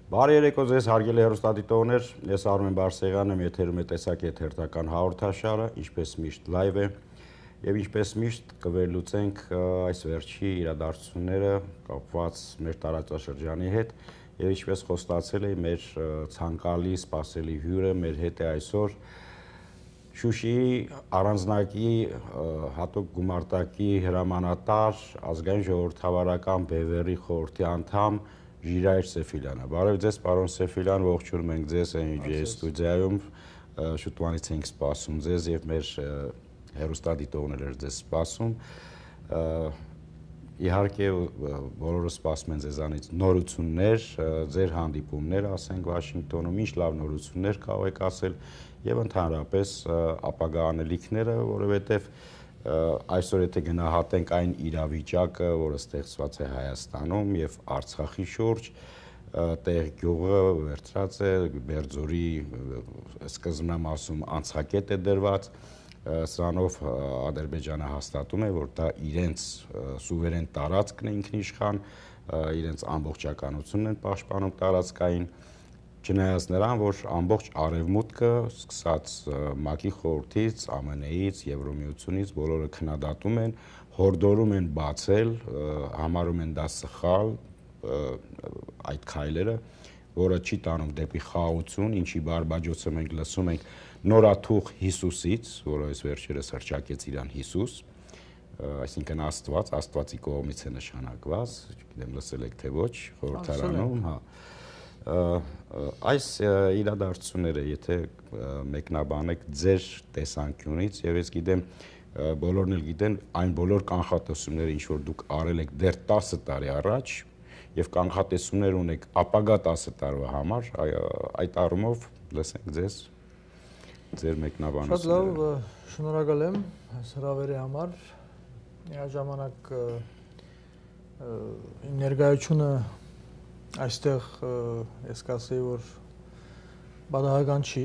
Բարի երեկո ձեզ հարգելի հեռուստադիտողներ, ես Արմեն Բարսեղյանն եմ, եթերում է տեսակետ հերթական հաղորդաշարը, ինչպես միշտ լայվ է, եւ ինչպես միշտ կվերլուծենք այս վերջի իրադարձությունները կապված մեր տարածաշրջանի հետ, եւ ինչպես խոստացել էի, մեր ցանկալի սպասելի հյուրը մեր հետ է այսօր Շուշիի առանձնակի հատուկ գումարտակի հրամանատար, ազգային ժողովրդավարական բևեռի խորհրդի անդամ Ժիրայր Սեֆիլյանը։ Բարև ձեզ, պարոն Սեֆիլյան, ողջունում ենք ձեզ NUJ ստուդիայում, շուտվանից ենք սպասում ձեզ եւ մեր հեռուստադիտողները ձեզ սպասում։ Իհարկե բոլորը սպասում են ձեզանից նորություններ, ձեր հանդիպումներ, ասենք Վաշինգտոնում, ինչ լավ նորություններ կարող եք ասել եւ ընդհանրապես ապագա անելիքները, որովհետեւ այսօր եթե գնահատենք այն իրավիճակը, որը ստեղծված է Հայաստանում եւ Արցախի շուրջ, տեղ գյուղը վերցրած է, Բերձորի սկզբնամ ասում անցակետ է դրված, սրանով Ադրբեջանը հաստատում է, որ դա իրենց սուվերեն տարածքն է ինքնիշխան, իրենց ամբողջականությունն են պաշտպանում տարածքային, չնայած նրան, որ ամբողջ արևմուտքը, սկսած ՄԱԿ-ի խորհրդից, ԱՄՆ-ից, Եվրոմիությունից բոլորը քննադատում են, հորդորում են բացել, համարում են դա սխալ այդ քայլերը, որը չի տանում դեպի խաղաղություն, ինչի բարբաջոցը մենք լսում ենք նորաթուխ Հիսուսից, որը այս վերջերս հռչակեց իրան Հիսուս, այսինքն Աստված, Աստվածի կողմից է նշանակված, չգիտեմ լսել եք թե ոչ, խորհրդարանում, հա։ Այս իրադարձությունները, եթե մեկնաբանեք ձեր տեսանկյունից, եւ ես գիտեմ, բոլորն էլ գիտեն, այն բոլոր կանխատեսումները, ինչ որ դուք արել եք դեռ 10 տարի առաջ, եւ կանխատեսումներ ունեք ապագա 10 տարվա համար, այդ առումով լսենք ձեզ ձեր մեկնաբանությունները։ Շատ լավ, շնորհակալ եմ այս հրավերի համար։ Միաժամանակ իմ ներկայությունը այստեղ ես կասեի, որ բադահական չի,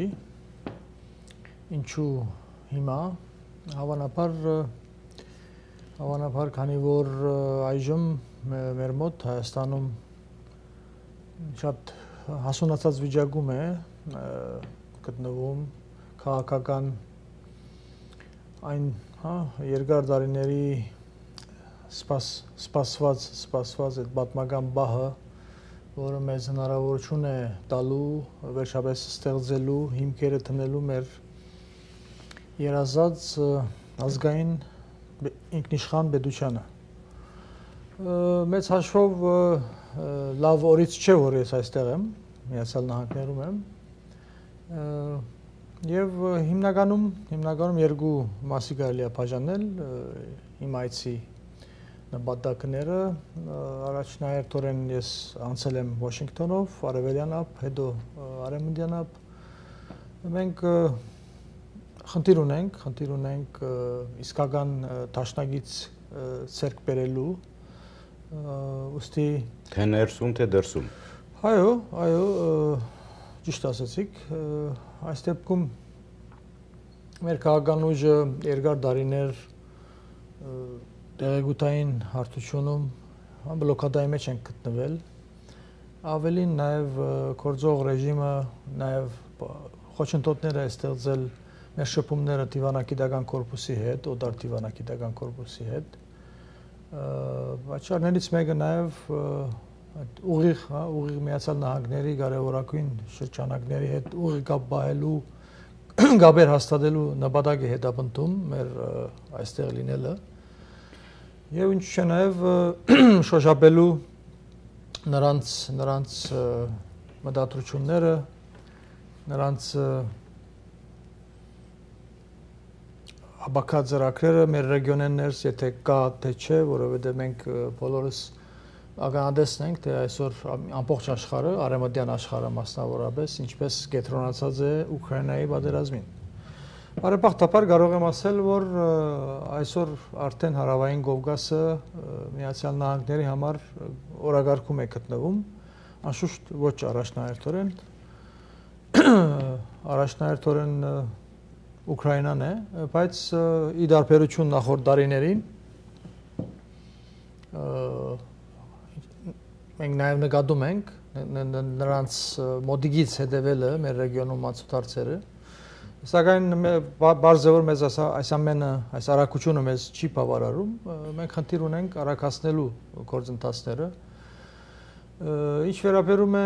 ինչու հիմա, հավանաբար, քանի որ այժմ մեր մոտ Հայաստանում շատ հասունացած վիճակում է գտնվում քաղաքական այն երկար տարիների սպասված այդ պատմական բահը, որը մեզ հնարավորություն է տալու վերջապես ստեղծելու, հիմքերը տնելու մեր երազած ազգային ինքնիշխան պետությանը։ Մեծ հաշվով լավ օրից չէ, որ ես այստեղ եմ, Միացյալ Նահանգներում եմ, եւ հիմնականում երկու մասի կարելի է բաժանել իմ այցի նպատակները, առաջնահերթորեն ես անցել եմ Վաշինգտոնով, արևելյան ափ, հետո արևմտյան ափ, մենք խնդիր ունենք իսկական դաշնակից ցերկ բերելու, ուստի թե ներսում, թե դրսում։ Այո, ճիշտ ասացիք, այս դեպքում մեր քաղաքական ուժը երկար տարիներ տեղեկութային հարթությունում բլոկադայի մեջ են գտնվել, ավելին նաև գործող ռեժիմը նաև խոչընդոտներ է ստեղծել մեր շփումները դիվանագիտական կորպուսի հետ, օտար դիվանագիտական կորպուսի հետ, պատճառներից մեկը նաև ուղիղ Միացյալ Նահանգների կարևորագույն շրջանակների հետ ուղիղ կապ պահելու, կապեր հաստատելու նպատակ է հետապնդում մեր այստեղ լինելը եւ ինչ չէ նաեւ շոշափելու նրանց մտադրությունները, նրանց ապակա ծրագրերը մեր ռեգիոնեն ներս, եթե կա թե չէ, որովհետեւ մենք բոլորս ականատեսն ենք, թե այսօր ամբողջ աշխարհը, արևմտյան աշխարհը մասնավորապես, ինչպես կենտրոնացած է Ուկրաինայի պատերազմին։ Բարեբախտաբար կարող եմ ասել, որ այսօր արդեն հարավային Կովկասը Միացյալ Նահանգների համար օրակարգում է գտնվում, անշուշտ ոչ առաջնահերթորեն Ուկրաինան է, բայց ի տարբերություն նախորդ տարիներին մենք նաև նկատում ենք նրանց մոդիգից հետևելը մեր ռեգիոնում մացուտարցերը սակայն բարձր որ մեզ այս ամենը այս արագությունը մեզ չի բավարարում մենք խնդիր ունենք արագացնելու գործընթացները ինչ վերաբերում է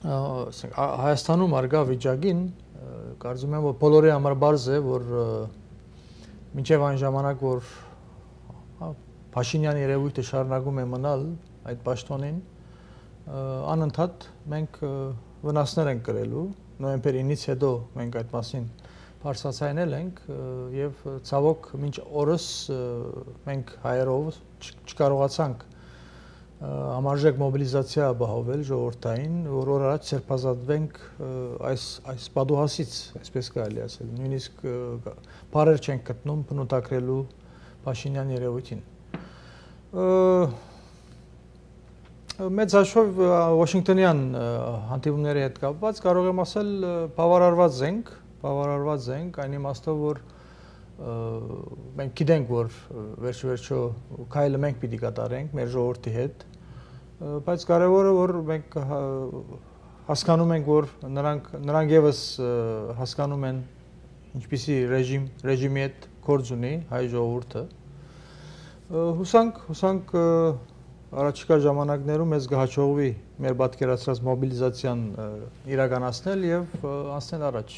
Հայաստանում արգա վիճակին կարծում եմ որ բոլորի համար բարձ է որ մինչև այն ժամանակ որ Փաշինյանի երևույթը շարունակում է մնալ այդ պաշտոնին անընդհատ մենք վնասներ ենք կրելու նոյեմբեր 9-ից հետո մենք այդ մասին բարձրացնել ենք եւ ցավոք մինչ օրս մենք հայերով չկարողացանք համարժեք մոբիլիզացիա ապահովել ժողովրդային որ օր առաջ սերբազատվենք այս պատուհասից այսպես կարելի ասել նույնիսկ բարեր չենք գտնում բնութագրելու Փաշինյան երևույթին մեծ հաշվով Վաշինգտոնյան հանդիպումների հետ կապված կարող եմ ասել բավարարված ենք այն իմաստով որ մենք գիտենք որ վերջո քայլը մենք պիտի կատարենք մեր ժողովրդի հետ բայց կարևորը որ մենք հասկանում ենք որ նրանք եւս հասկանում են ինչպիսի ռեժիմի հետ գործ ունի հայ ժողովուրդը հուսանք առաջիկա ժամանակներում մեզ կհաջողվի մեր պատկերացրած մոբիլիզացիան իրականացնել եւ անցնել առաջ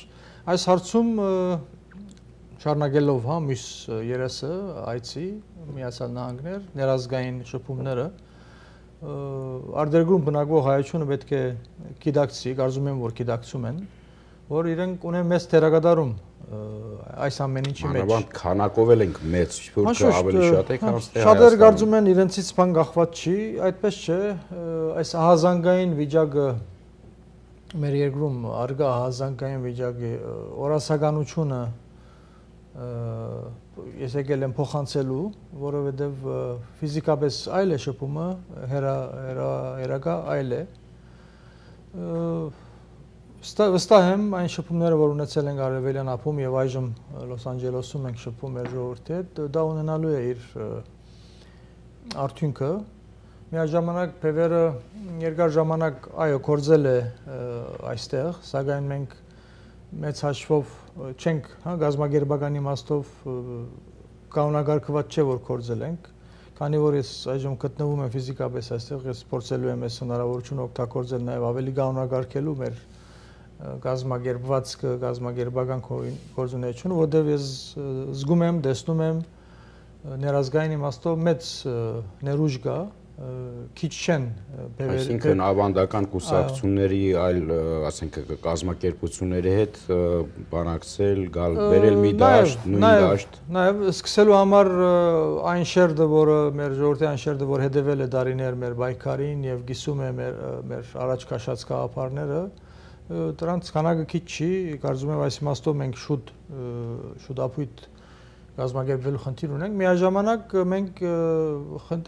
այս հարցում շարունակելով մյուս երեսը այցի Միացյալ Նահանգներ ներազգային շփումները արտերկրում բնակվող հայությունը պետք է գիտակցի կարծում եմ որ գիտակցում են որ իրենք ունեն մեծ թերակատարում այս ամեն ինչի մեջ Մանավանդ քանակով ենք մեծ շփուրքը ավելի շատ է քան շատեր կարծում են իրենցից բան կախված չի այդպես չէ այս ահազանգային վիճակը մեր երկրում արգա ահազանգային վիճակի օրասականությունը ես եկել եմ փոխանցելու որովհետև ֆիզիկապես այլ է շփումը հերակա այլ է Վստահ եմ այն շփումները, որ ունեցել ենք Արևելյան ափում եւ այժմ Լոս Անջելեսում ենք շփում մեր ժողովրդի հետ, դա ունենալու է իր արդյունքը։ Միաժամանակ Փևերը երկար ժամանակ այո կորձել է այստեղ, սակայն մենք մեծ հաշվով չենք, գազագերբական իմաստով կանոնակարգված չէ որ կորձել ենք, քանի որ ես այժմ գտնվում եմ ֆիզիկապես այստեղ, ես փորձելու եմ այս հնարավորությունը օգտագործել նաեւ ավելի կանոնակարգելու մեր գազագերբվածքը, գազագերբական գործունեությունը, որտեղ ես զգում եմ, տեսնում եմ ներազգային իմաստով մեծ ներուժ կա, քիչ չեն Այսինքն ավանդական կուսակցությունների այլ, ասենք, կազմակերպությունների հետ բանակցել, բերել մի դաշտ, նույն դաշտ։ Նաև սկսելու համար այն շերտը, որը մեր ժողովրդի այն շերտը, որ հետևել է դարիներ մեր պայքարին եւ գիսում է մեր առաջ քաշած գաղափարները, դրանց քանակը քիչ չի, կարծում եմ այս իմաստով մենք շուտ ապույտ գազագերբելու խնդիր ունենք, միաժամանակ մենք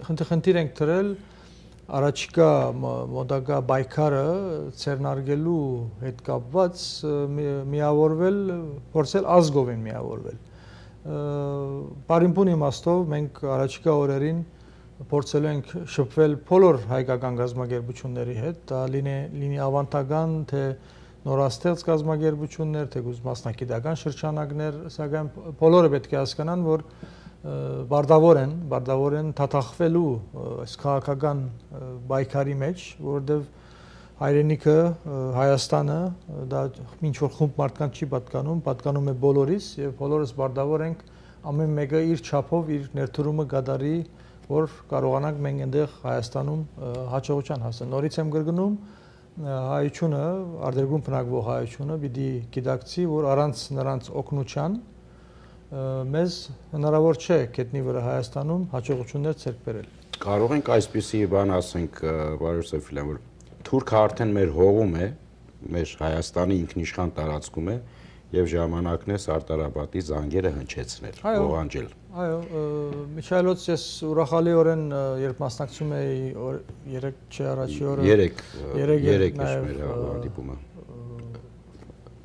խնդիր ենք դրել առաջիկա մոտակա պայքարը ցերնարգելու հետ կապված միավորվել, փորձել ազգովին միավորվել։ Բարինպուն իմաստով մենք առաջիկա օրերին փորձելու ենք շփվել բոլոր հայկական գազագերբությունների հետ, դա լինի ավանդական թե նորաստեղծ գազագերբություններ, թե մասնակիտական շրջանակներ, սակայն բոլորը պետք է հասկանան, որ բարդավոր են թաթախվելու այս քաղաքական պայքարի մեջ, որովհետև հայրենիքը, Հայաստանը, դա ինչ որ խումբ մարդկանց չի պատկանում է բոլորիս եւ բոլորս բարդավոր ենք ամեն մեկը իր չափով իր ներդրումը կատարի, որ կարողանանք մենք այնտեղ Հայաստանում հաջողության հասնել։ Նորից եմ կրկնում, հայությունը, արտերկրում բնակվող հայությունը պիտի գիտակցի, որ առանց նրանց օգնության մեզ հնարավոր չէ գետնի վրա Հայաստանում հաջողություններ ցերկ բերել։ Կարող ենք այսպիսի բան ասենք, պարոն Սեֆիլյան, որ Թուրքը արդեն մեր հողում է, մեր Հայաստանի ինքնիշխան տարածքում է եւ ժամանակն է Սարտարապատի զանգերը հնչեցնել, ողանջել։ Այո, Միչայելոց ես ուրախալիորեն երբ մասնակցում էի 3 չէ առաջի օրը 3 մեր հանդիպումը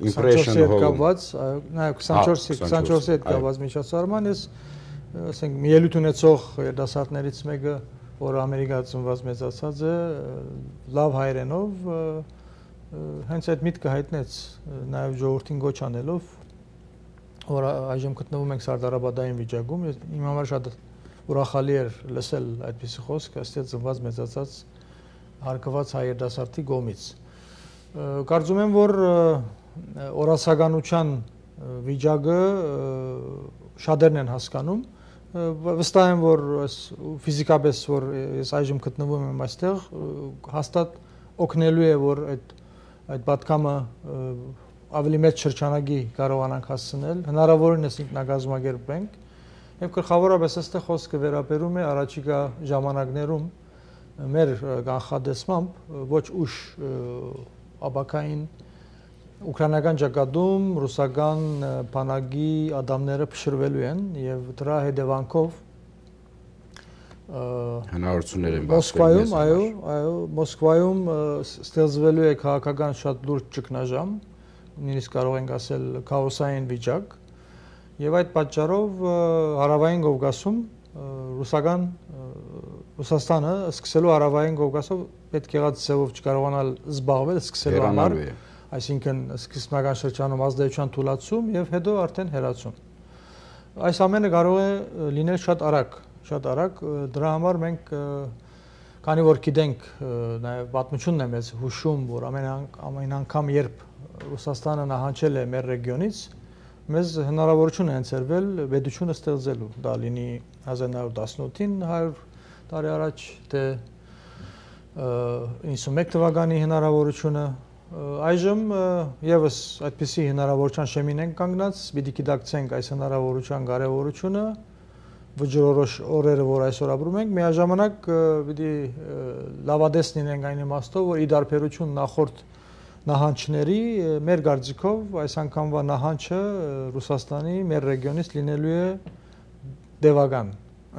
Impression կապված, այո, 24-ի հետ կապված միջոցառման ես ասենք մի ելույթ ունեցող երիտասարդներից մեկը որ Ամերիկա ծնված մեծացած է, լավ հայերենով հենց այդ միտքը հայտնեց նաև ժողովրդին գոչ անելով, որ այժմ գտնվում ենք սարդարաբադային վիճակում, իմ համար շատ ուրախալի էր լսել այդպիսի խոսք, այստեղ ծնված մեծացած հարկված հայ երիտասարդի կողմից։ Կարծում եմ, որ օրացականության վիճակը շատերն են հասկանում, վստահ եմ, որ ֆիզիկապես, որ ես այժմ գտնվում եմ այստեղ, հաստատ օգնելու է, որ այդ պատկամը ավելի մեծ շրջանագի կարողանանք հասցնել, հնարավորինս ինքնակազմակերպենք, եւ գլխավորապես այստեղ խոսքը վերաբերում է առաջիկա ժամանակներում մեր կանխատեսմամբ ոչ ուշ ապակային ուկրաինական ճակատում ռուսական բանակի ադամները փշրվելու են եւ դրա հետևանքով հնարավորություններ են Մոսկվայում, այո, Մոսկվայում ստեղծվելու է քաղաքական շատ լուրջ ճգնաժամ, նույնիսկ կարող ենք ասել քաոսային վիճակ, եւ այդ պատճառով հարավային Կովկասում Ռուսաստանը սկսելու հարավային Կովկասով պետք եղած ձևով չկարողանալ զբաղվել, սկսելու համար, այսինքն սկզբնական շրջանում ազդեցության թուլացում եւ հետո արդեն հերացում։ Այս ամենը կարող է լինել շատ արագ, դրա համար մենք քանի որ գիտենք նաեւ պատմությունն է մեզ հուշում, որ ամեն անգամ երբ Ռուսաստանը նահանջել է մեր ռեգիոնից, մեզ հնարավորություն է ընձեռվել պետությունը ստեղծելու, դա լինի 1918-ին 100 տարի առաջ, թե 91 թվականի հնարավորությունը, այժմ եւս այդպիսի հնարավորության շեմին ենք կանգնած, պիտի գիտակցենք այս հնարավորության կարեւորությունը, վճռորոշ օրերը, որ այսօր ապրում ենք, միաժամանակ պիտի լավադես լինենք այն իմաստով, որ ի դարբերություն նախորդ նահանջների մեր կարծիքով այս անգամվա նահանջը Ռուսաստանի մեր ռեգիոնից լինելու է դեպական,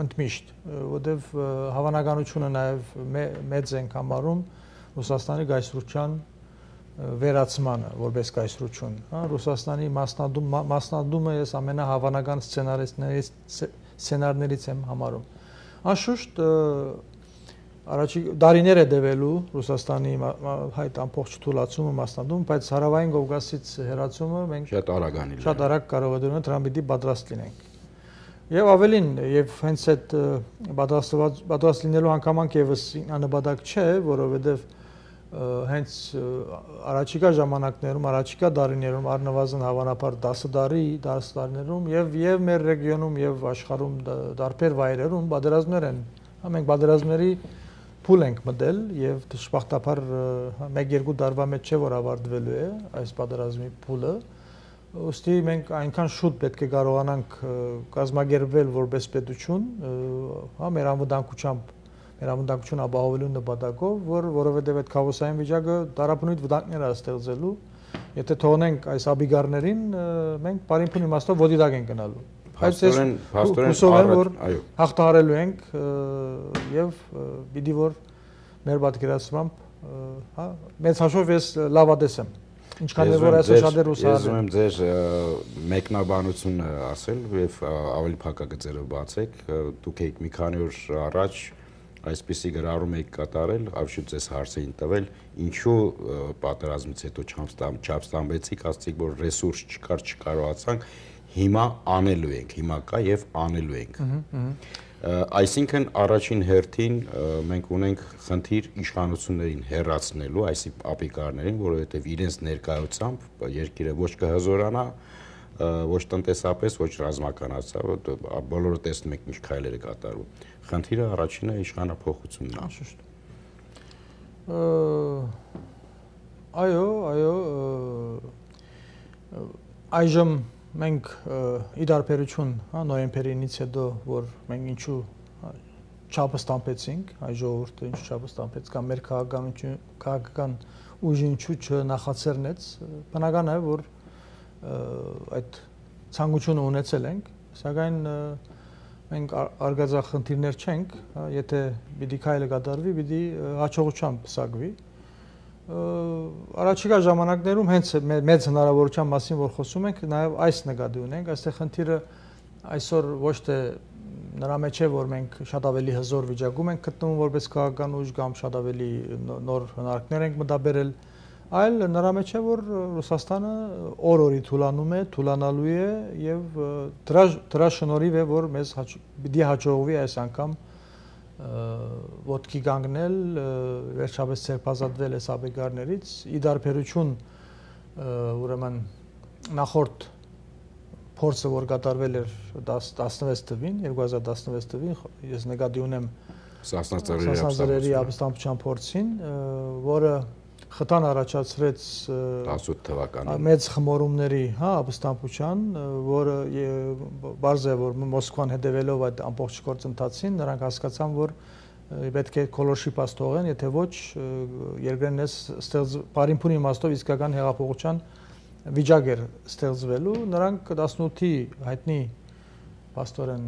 ընդմիշտ, որտեվ հավանականությունը նաև մեծ ենք համարում Ռուսաստանի գայսրության վերացմանը, որպես գայսրություն, Ռուսաստանի մասնադումը ես ամենահավանական սցենարներից եմ համարում։ Անշուշտ դարիներ է դևելու Ռուսաստանի հայտ ամբողջ թուլացումը մասնադում, բայց հարավային Կովկասից հեռացումը մենք շատ արագ կարող է դառնալ, դրան պիտի պատրաստ լինենք։ Եվ ավելին, եւ հենց այդ պատրաստ լինելու հանգամանք եւս աննպատակ չէ, որովհետեւ հենց առաջիկա ժամանակներում, առաջիկա դարիներում, առնվազն հավանաբար 10 տարիներում եւ մեր ռեգիոնում եւ աշխարհում դարբեր վայրերում պատերազմներ են, մենք պատերազմների փուլ ենք մտել եւ դժբախտաբար 1-2 տարվա մեջ չէ որ ավարտվելու է այս պատերազմի փուլը, ուստի մենք այնքան շուտ պետք է կարողանանք կազմակերպվել որպես պետություն, մեր անվտանգություն ապահովելու նպատակով, որովհետեւ այդ քաոսային վիճակը տարապնույթ վտանգներ է ստեղծելու, եթե թողնենք այս աբիգարներին, մենք բարին իմաստով ոդիդակ ենք գնալու։ Բայց հուսով եմ, որ հաղթահարելու ենք եւ պիտի որ մեր պատկերացմամբ, մեծ հաշվով ես լավադես եմ։ Ինչքան որ այսօր շատեր ուսահար են։ Ես ուզում եմ ձեր մեկնաբանությունը ասել եւ ավելի փակագծերը բացեք։ Դուք եք մի քանի օր առաջ այսպիսի գրառում եք կատարել, ավշուտ ձեզ հարցին տվել, ինչու պատերազմից հետո չապստամբեցիք, ասացիք, որ ռեսուրս չկար, չկարողացանք, հիմա անելու ենք, հիմա կա եւ անելու ենք։ Այսինքն առաջին հերթին մենք ունենք խնդիր իշխանություններին հեռացնելու, այսի ապիկարներին, որովհետեւ իրենց ներկայությամբ երկիրը ոչ կհզորանա, ոչ տնտեսապես, ոչ ռազմականացավ, բոլորը տեսնում եք ինչ քայլեր է կատարվում։ Խնդիրը առաջինը իշխանափոխությունն է։ Անշուշտ։ Այո, այժմ մենք ի դարբերություն, նոյեմբերից հետո, որ մենք ինչու չափը ստամբեցինք, այ ժողովուրդը ինչու չափը ստամբեց, կամ մեր քաղաքական ուժը ինչու չնախացերնեց, բնական է, որ այդ ցանկությունը ունեցել ենք, սակայն մենք արգածախնդիրներ չենք, եթե պիտի քայլը կատարվի, պիտի հաջողությամբ պսակվի։ Առաջիկա ժամանակներում հենց մեծ հնարավորության մասին որ խոսում ենք, նաև այս նկատի ունենք, այստեղ խնդիրը այսօր ոչ թե նրա մեջ է, որ մենք շատ ավելի հզոր վիճակում ենք գտնվում որպես քաղաքական ուժ կամ շատ ավելի նոր հնարքներ ենք մտաբերել, այլ նրա մեջ է, որ Ռուսաստանը օր-օրի թուլանում է, թուլանալու է եւ դրա շնորհիվ է, որ մեզ պիտի հաջողվի այս անգամ ոտքի կանգնել, վերջապես ցերպազատվել այս աբեկարներից, ի դարբերություն ուրեմն նախորդ փորձը, որ կատարվել էր 16 թվին, 2016 թվին, ես նկատի ունեմ Սասնաձորի ապստամբության փորձին, որը խթան առաջացրեց 18 թվականին մեծ խմորումների, ապստամբության, որը բարձ է, որ Մոսկվան հետևելով այդ ամբողջ գործընթացին, նրանք հասկացան, որ պետք է քոլոշի պաս թողեն, եթե ոչ երկրներն այս բարինփունի իմաստով իսկական հեղափոխության վիճակ էր ստեղծվելու, նրանք 18-ի հայտնի պաստորեն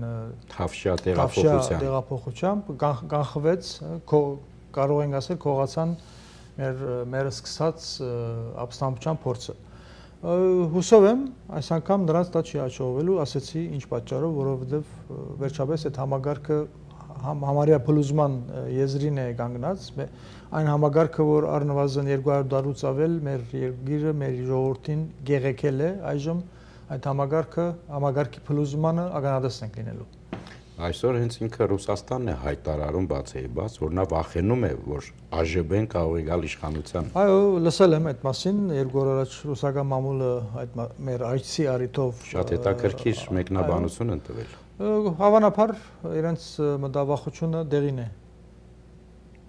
Թավշյա տեղափոխությամբ կանխվեց, կարող ենք ասել, քողացան մեր սկսած ապստամբության փորձը։ Հուսով եմ, այս անգամ նրանց դա չի հաջողվելու, ասեցի ինչ պատճառով, որովհետև վերջապես այդ համագարկը համարյա փլուզման եզրին է կանգնած, այն համագարկը, որ առնվազն 200 տարուց ավել մեր երկիրը, մեր ժողովրդին գեղեցել է, այժմ այդ համագարկի փլուզմանը ականատես ենք լինելու։ Այսօր հենց ինքը Ռուսաստանն է հայտարարում բացեիբաց, որ նա վախենում է, որ ԱԺԲ-ն կարող է գալ իշխանության։ Այո, լսել եմ այդ մասին, 2 օր առաջ ռուսական մամուլը այդ մեր այցի առիթով շատ հետաքրքիր մեկնաբանություն են տվել։ Հավանաբար իրենց մտավախությունը դեղին է։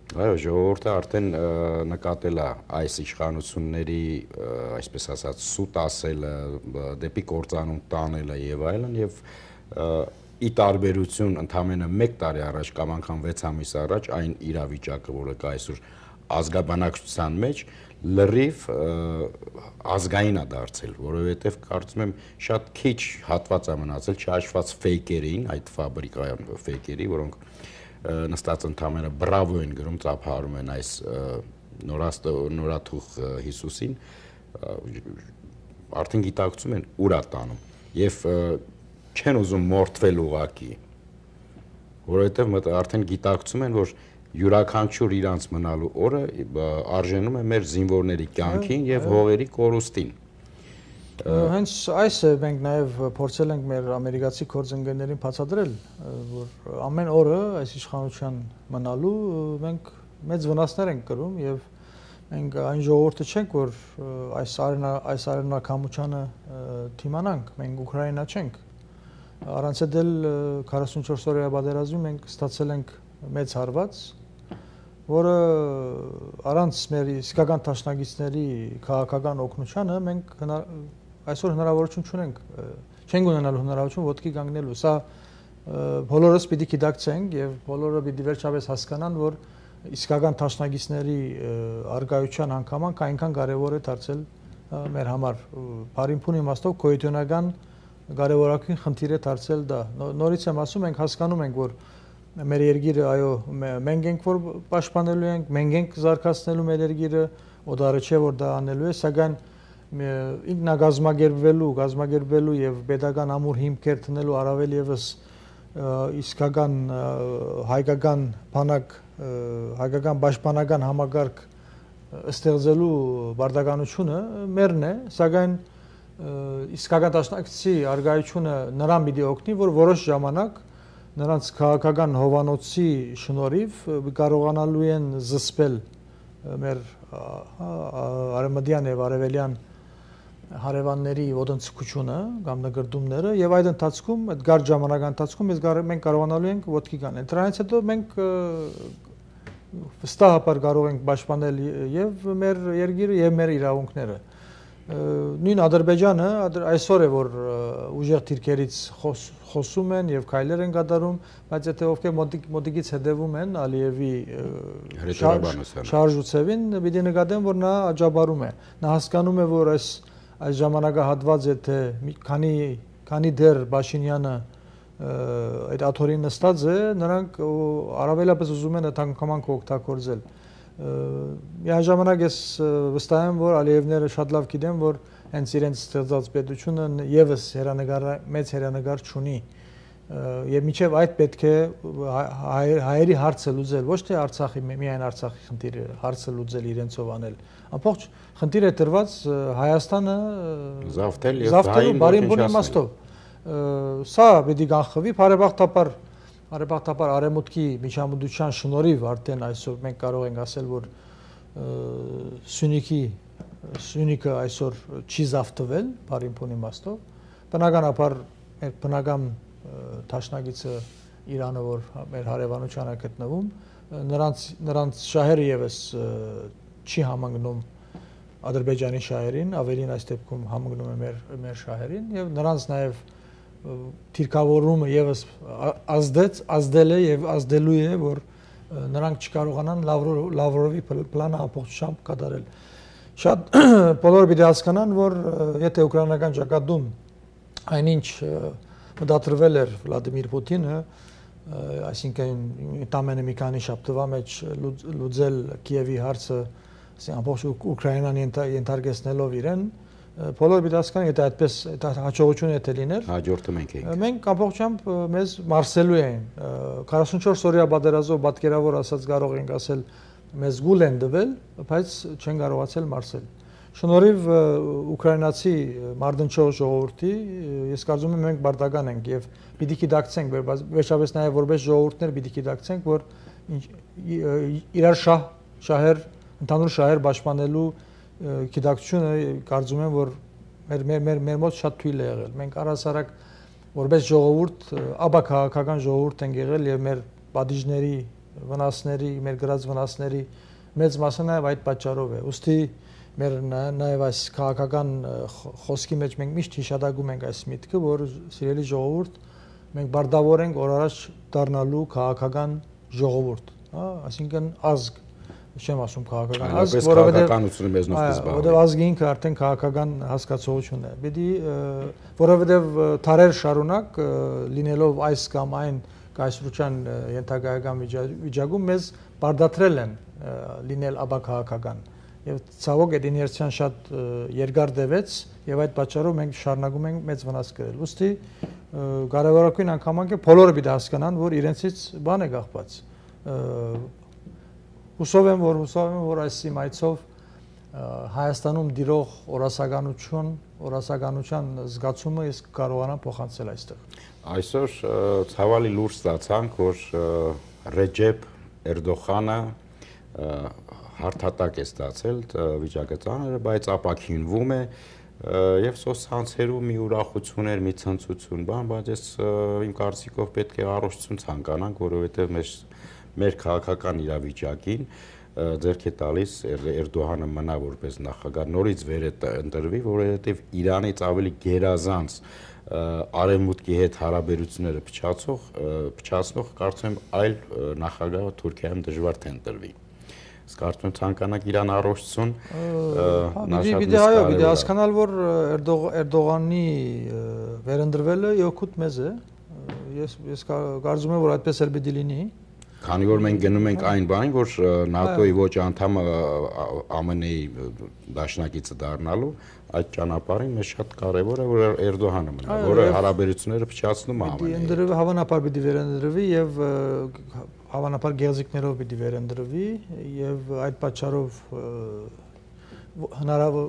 Այո, ժողովուրդը արդեն նկատել է այս իշխանությունների, այսպես ասած, սուտ ասելը, դեպի կործանում տանելը եւ այլն, եւ ի տարբերություն ընդամենը 1 տարի առաջ կամ անգամ 6 ամիս առաջ այն իրավիճակը, որը կա այսօր ազգաբնակչության մեջ, լրիվ ազգային է դարձել, որովհետև կարծում եմ շատ քիչ հատված է մնացել չհաշված ֆեյքերին, այդ ֆաբրիկայում ֆեյքերի, որոնք նստած ընդամենը բրավո են գրում, ծափահարում են այս նորաթուխ Հիսուսին, արդեն գիտակցում են ուր է տանում եւ չեն ուզում մորթվել ուղակի, որովհետև արդեն գիտակցում են, որ յուրաքանչյուր իրանց մնալու օրը արժենում է մեր զինվորների կյանքին եւ հողերի կորուստին։ Հենց այս է մենք նաեւ փորձել ենք մեր ամերիկացի գործընկերներին բացատրել, որ ամեն օրը այս իշխանության մնալու մենք մեծ վնասներ ենք կրում եւ մենք այն ժողովուրդը չենք, որ այս արևնակամությանը թիմանանք, մենք Ուկրաինա չենք։ Առանց էլ 44 օրյա պատերազմում մենք ստացել ենք մեծ հարված, որը առանց մեր իսկական տաշնագիցների քաղաքական օգնությանը մենք այսօր հնարավորություն չենք ունենալու հնարավորություն ոտքի կանգնելու։ Սա բոլորս պիտի գիտակցենք եւ բոլորը պիտի վերջապես հասկանան, որ իսկական տաշնագիցների արգայության հանգամանք այնքան կարեւոր է դարձել մեր համար։ Բարինփուն իմաստով գոյությունական կարևորագույն խնդիր է դարձել դա։ Նորից եմ ասում, մենք հասկանում ենք, որ մեր երկիրը, այո, մենք ենք որ պաշտպանելու ենք, մենք ենք զարգացնելու մեր երկիրը, օդարը չէ որ դա անելու է, սակայն ինքնագազմագերբվելու եւ pedagogan ամուր հիմքեր տնելու առավել եւս իսկական հայկական բանակ, հայկական պաշտպանական համագարկ ստեղծելու բարդականությունը մերն է, սակայն իսկական տաշնակցի արգայությունը նրան պիտի օգնի, որ որոշ ժամանակ նրանց քաղաքական հովանոցի շնորհիվ կարողանալու են զսպել մեր արևմտյան եւ արևելյան հարևանների ոտնձգությունը կամ նկրտումները եւ այդ ընթացքում, այդ գար ժամանակի ընթացքում մենք կարողանալու ենք ոտքի կանել։ Դրանից հետո մենք վստահաբար կարող ենք պաշտպանել եւ մեր երկիրը եւ մեր իրավունքները։ Նույն Ադրբեջանը այսօր է որ ուժեղ դիրքերից խոսում են եւ քայլեր են կատարում, բայց եթե ովքեր մոտիկից հետևում են Ալիևի շարժուցևին, պիտի նկատեն, որ նա աջակցում է։ Նա հասկանում է, որ այս ժամանակահատված եթե քանի դեռ Փաշինյանը այդ աթորին նստած է, նրանք առավելապես ուզում են այդ հանգամանքը օգտագործել։ Միաժամանակ ես վստահ եմ, որ Ալիևները շատ լավ գիտեն, որ հենց իրենց ստեղծած պետությունը եւս մեծ հերանեկար չունի եւ միջև այդ պետք է հայերի հարցը լուծել, ոչ թե Արցախի միայն Արցախի խնդիրը, հարցը լուծել իրենցով անել։ Ամբողջ խնդիրը դրված Հայաստանը զավթել եւ բարին բուն իմաստով։ Սա պետք է կանխվի, բարեբախտաբար արևմուտքի միջամտության շնորհիվ արդեն այսօր մենք կարող ենք ասել, որ Սյունիքը այսօր չի զավթվել բարին բուն իմաստով։ Բնականաբար մեր բնական Տաշնագիցը Իրանը, որ մեր հարևանության է գտնվում, նրանց շահերը եւս չի համընկնում Ադրբեջանի շահերին, ավելին այս դեպքում համընկնում է մեր շահերին եւ նրանց նաեւ թիրքավորումը եւս ազդել է եւ ազդելու է, որ նրանք չկարողանան Լավրովի պլանը ամբողջությամբ կատարել։ Շատ բոլորը պիտի հասկանան, որ եթե ուկրաինական ճակատում այնինչ մտադրվել էր Վլադիմիր Պուտինը, այսինքն տամենը մի քանի շաբթվա մեջ լուծել Կիևի հարցը, ամբողջ Ուկրաինան ենթարկեցնելով իրեն, բոլորը պիտի հասկանան, եթե այդպես հաջողություն է լինել, հաջորդը մենք ենք։ Մենք ամբողջությամբ մեզ մարսելու էին 44 օրյա պատերազմով պատկերավոր ասած կարող ենք ասել մեզ գուլ են տվել, բայց չեն կարողացել մարսել։ Շնորհիվ ուկրաինացի մարտնչող ժողովրդի, ես կարծում եմ մենք պարտական ենք եւ պիտի գիտակցենք, վերջապես նաեւ որպես ժողովուրդներ պիտի գիտակցենք, որ իրար շահեր, ընդհանուր շահեր պաշտպանելու գիտակցությունը կարծում եմ, որ մեր մոտ շատ թույլ է եղել։ Մենք առհասարակ որպես ժողովուրդ, ապա քաղաքական ժողովուրդ ենք եղել եւ մեր պատիժների, վնասների, մեր գրած վնասների մեծ մասը նաեւ այդ պատճառով է։ Ուստի մեր նաև այս քաղաքական խոսքի մեջ մենք միշտ հիշատակում ենք այս միտքը, որ սիրելի ժողովուրդ, մենք բարտավոր ենք օր առաջ դառնալու քաղաքական ժողովուրդ, այսինքն ազգ, չեմ ասում քաղաքական ազգ, որովհետև ազգը ինքը արդեն քաղաքական հասկացողություն է։ Պետք է, որովհետև դարեր շարունակ լինելով այս կամ այն կայսրության ենթակայական վիճակում մեզ բարտադրել են լինել ապա քաղաքական։ Եվ ցավոք այդ իներցիան շատ երկար տևեց եւ այդ պատճառով մենք շարունակում ենք մեծ վնաս կրել։ Ոստի կարևորագույն անգամ է բոլորը պիտի հասկանան, որ իրենցից բան է կախված։ Հուսով եմ, որ այս իմայցով Հայաստանում դիրող օրասականության զգացումը ես կարողանամ փոխանցել այստեղ։ Այսօր ցավալի լուրջ ստացանք, որ Ռեջեփ Էրդողանը հարթատակ է ստացել վիճակը ծանր, բայց ապաքինվում է եւ սոցցանցերում մի ուրախություն էր, մի ցնծություն, բայց ես իմ կարծիքով պետք է առողջություն ցանկանանք, որովհետեւ մեր քաղաքական իրավիճակին ձեռք է տալիս Էրդողանը մնա որպես նախագահ, նորից վեր է ընտրվի, որովհետեւ Իրանից ավելի գերազանց արևմուտքի հետ հարաբերությունները փչացնող կարծում եմ այլ նախագահը Թուրքիայում դժվար թե ընտրվի։ Կարծում եմ ցանկանանք Իրան առողջություն։ Պիտի հասկանալ, որ Էրդողանի վերընտրվելը օգուտ մեզ է։ Ես կարծում եմ, որ այդպես էլ պիտի լինի։ Քանի որ մենք գնում ենք այն բանին, որ ՆԱՏՕ-ի ոչ անդամը ԱՄՆ-ի դաշնակիցը դառնալու, այդ ճանապարհին մեզ շատ կարևոր է, որ Էրդողանը մնա, որը հարաբերությունները փչացնում է ԱՄՆ-ի։ Հավանաբար պիտի վերընտրվի եւ հավանաբար գեղձիկներով պիտի վերընտրվի եւ այդ պատճառով հնարավոր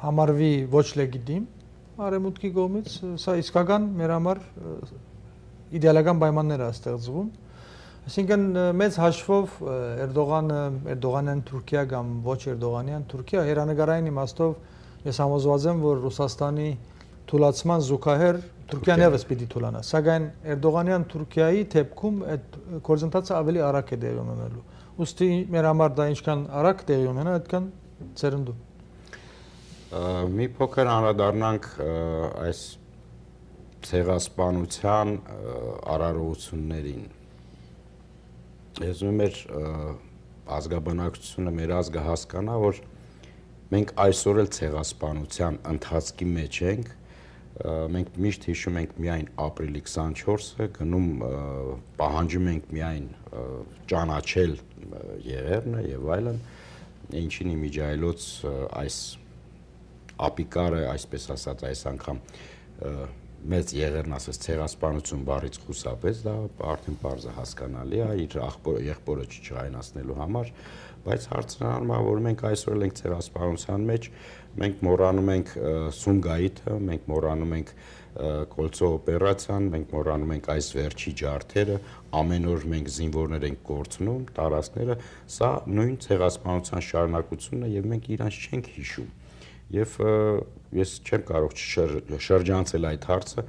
համարվի ոչ լեգիտիմ արևմուտքի կողմից, սա իսկական մեր համար իդեալական պայմաններ է ստեղծվում։ Այսինքն մեծ հաշվով Էրդողանյան Թուրքիա կամ ոչ Էրդողանյան Թուրքիա հերանեկարային իմաստով ես համոզված եմ, որ Ռուսաստանի թուլացման զուգահեռ Թուրքիան եւս պիտի թուլանա, սակայն Էրդողանյան Թուրքիայի դեպքում այդ գործընթացը ավելի արագ է տեղի ունենալու։ Ուստի մեր համար դա ինչքան արագ տեղի ունենա, այդքան ծերնդու։ Մի փոքր անդրադառնանք այս ցեղասպանության արարողություններին։ Ես ուզում եմ մեր ազգաբնակչությունը, մեր ազգը հասկանա, որ մենք այսօր էլ ցեղասպանության ընթացքի մեջ ենք։ Մենք միշտ հիշում ենք միայն ապրիլի 24-ը, գնում պահանջում ենք միայն ճանաչել եղերնը եւ այլն, ինչին իմիջայլոց այս ապիկարը, այսպես ասած, այս անգամ մեծ եղերն ասես ցեղասպանություն բառից խուսափեց, դա արդեն բարձր հասկանալի է իր եղբորը չճայնացնելու համար, բայց հարցն առնում է, որ մենք այսօր ենք ցեղասպանության մեջ, մենք մոռանում ենք Սումգայիթը, մենք մոռանում ենք Կոլցո օպերացիան, մենք մոռանում ենք այս վերջի ջարդերը, ամեն օր մենք զինվորներ ենք կորցնում, տարածքները, սա նույն ցեղասպանության շարունակությունն է եւ մենք իրանց չենք հիշում։ Եվ ես չեմ կարող շրջանցել այդ հարցը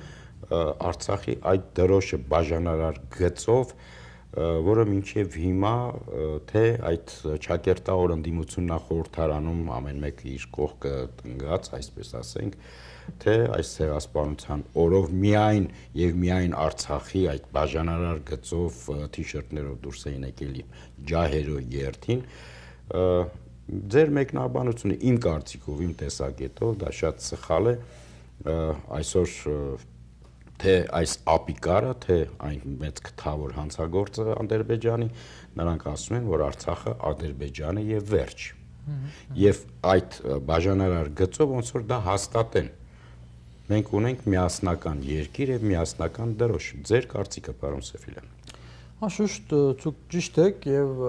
Արցախի այդ դրոշը բաժանարար գծով, որը մինչև հիմա թե այդ ճակերտավոր ընդդիմությունն խորհրդարանում ամեն մեկը իր կողքը տնգած, այսպես ասենք, թե այս ցեղասպանության օրով միայն եւ միայն Արցախի այդ բաժանարար գծով թիշերտներով դուրս էին եկել ջահերո երթին, ձեր մեկնաբանությունը իմ կարծիքով, իմ տեսակետով դա շատ սխալ է, այսօր թե այս ապիկարը, թե այն մեծ քթավոր հանցագործը Ադրբեջանի, նրանք ասում են, որ Արցախը Ադրբեջանը եւ վերջ։ Եվ այդ բաժանարար գծով ոնց որ դա հաստատեն։ Մենք ունենք միասնական երկիր եւ միասնական դրոշ։ Ձեր կարծիքը, պարոն Սեֆիլյան։ Անշուշտ ցույց ճիշտ եք եւ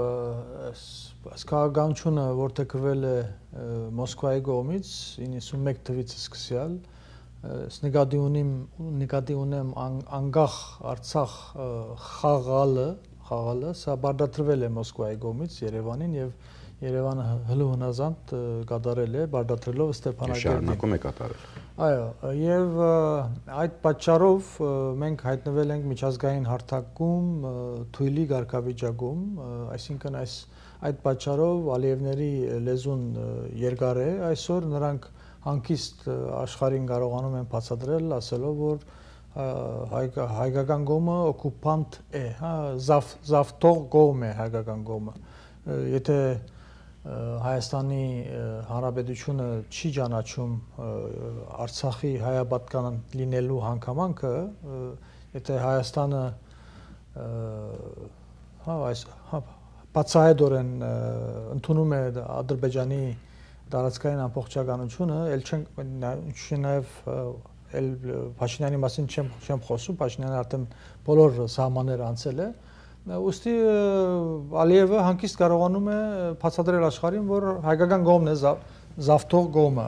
այս քաղաքականությունը որդեգրվել է Մոսկվայի կողմից 91 թվականից սկսյալ, նկատի ունեմ անկախ Արցախ խաղալը, սա բարդացրվել է Մոսկվայի կողմից Երևանին եւ Երևանը հնազանդ կատարել է, բարդացրելով Ստեփանակերտին։ Շարունակում է կատարել։ Այո, եւ այդ պատճառով մենք հայտնվել ենք միջազգային հարթակում, թույլի կարգավիճակում, այսինքն այդ պատճառով Ալիևների լեզուն երկար է, այսօր նրանք հանկիստ աշխարհին կարողանում են բացատրել, ասելով, որ հայկական կողմը օկուպանտ է, զավթող կողմ է հայկական կողմը։ Եթե Հայաստանի Հանրապետությունը չի ճանաչում Արցախի հայապատկան լինելու հանգամանքը, եթե Հայաստանը բացահայտորեն ընդունում է Ադրբեջանի տարածքային ամբողջականությունը, նաև Փաշինյանի մասին չեմ խոսում, Փաշինյանը արդեն բոլոր սահմանները անցել է, ուստի Ալիևը հանկիստ կարողանում է բացատրել աշխարհին, որ հայկական կողմն է զավթող կողմը,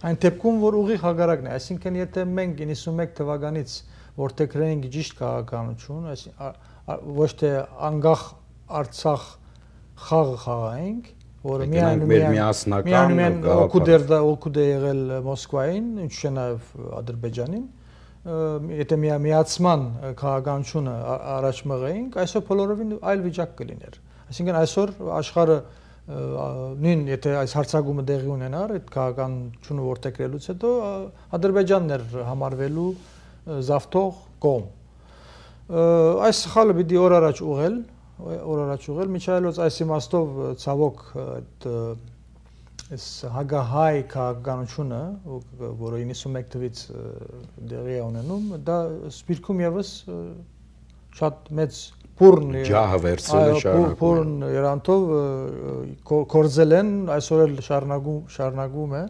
այն դեպքում, որ ուղիղ հակառակն է, այսինքն եթե մենք 91 թվականից որդեգրենք ճիշտ քաղաքականություն, ոչ թե անկախ Արցախ խաղը խաղայինք, որը միայն օգուտ է եղել Մոսկվային, ինչու՞ նաև Ադրբեջանին, եթե միացման քաղաքականությունը առաջ մղեինք, այսօր բոլորովին այլ վիճակ կլիներ։ Այսինքն այսօր աշխարհը նույն եթե այս հարցակումը տեղի ունենար, այդ քաղաքականությունը որդեգրելուց հետո Ադրբեջանն էր համարվելու զավթող կողմ։ Այս սխալը պիտի օր առաջ ուղղել, միջայլոց այս իմաստով ցավոք այս հագահայ քաղաքականությունը, որը 91 թվականից դեղի է ունենում, դա Սպիրկում եւս շատ մեծ բուրն ջահը վերցրել է բուրն երանտով կորձել են, այսօր էլ շարունակում է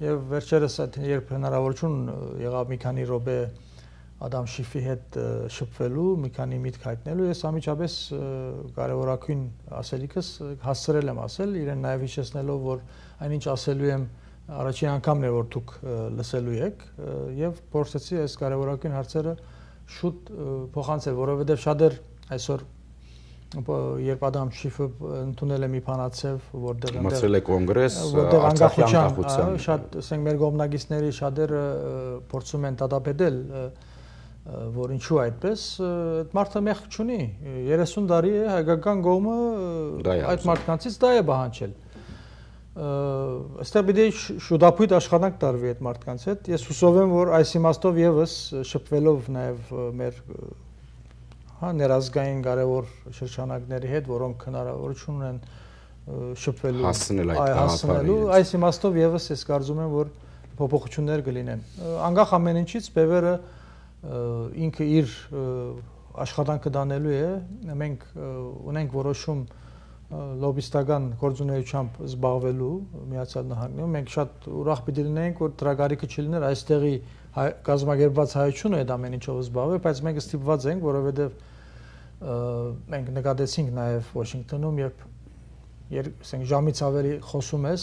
եւ վերջերս երբ հնարավորություն եղավ մի քանի րոպե Ադամ Շիֆի հետ շփվելու, մի քանի միտք հայտնելու, ես ամիջապես կարևորագույն ասելիքս հասցրել եմ ասել, իրեն նաև հիշեցնելով, որ այնինչ ասելու եմ առաջին անգամն է, որ դուք լսելու եք, եւ փորձեցի այս կարևորագույն հարցերը շուտ փոխանցել, որովհետեւ շատեր այսօր երբ Ադամ Շիֆը ընդունել է մի բանացև, որտեղ մրցել է կոնգրես, Արցախի անկախության, շատ ասենք մեր կողմնակիցների շատերը փորձում են դատապետել, որ ինչու այդպես, այդ մարդը մեղք չունի, 30 տարի է հայկական կողմը այդ մարդկանցից դա է պահանջել։ Այստեղ պիտի շուտապույտ աշխատանք տարվի այդ մարդկանց հետ։ Ես հուսով եմ, որ այս իմաստով եւս շփվելով նաեւ մեր ներազգային կարևոր շրջանակների հետ, որոնք հնարավորություն ունեն շփվելու, հասնելու, այս իմաստով եւս ես կարծում եմ, որ փոփոխություններ կլինեն։ Անկախ ամեն ինչից Բևերը ինքը իր աշխատանքը դանելու է, մենք ունենք որոշում լոբիստական գործունեությամբ զբաղվելու Միացյալ Նահանգներում, մենք շատ ուրախ պիտի լինենք, որ դրագարիքը չլիներ այստեղի կազմակերպված հայությունը այդ ամեն ինչով զբաղվի, բայց մենք ստիպված ենք, որովհետև մենք նկատեցինք նաև Վաշինգտոնում, երբ ասենք ժամից ավելի խոսում ես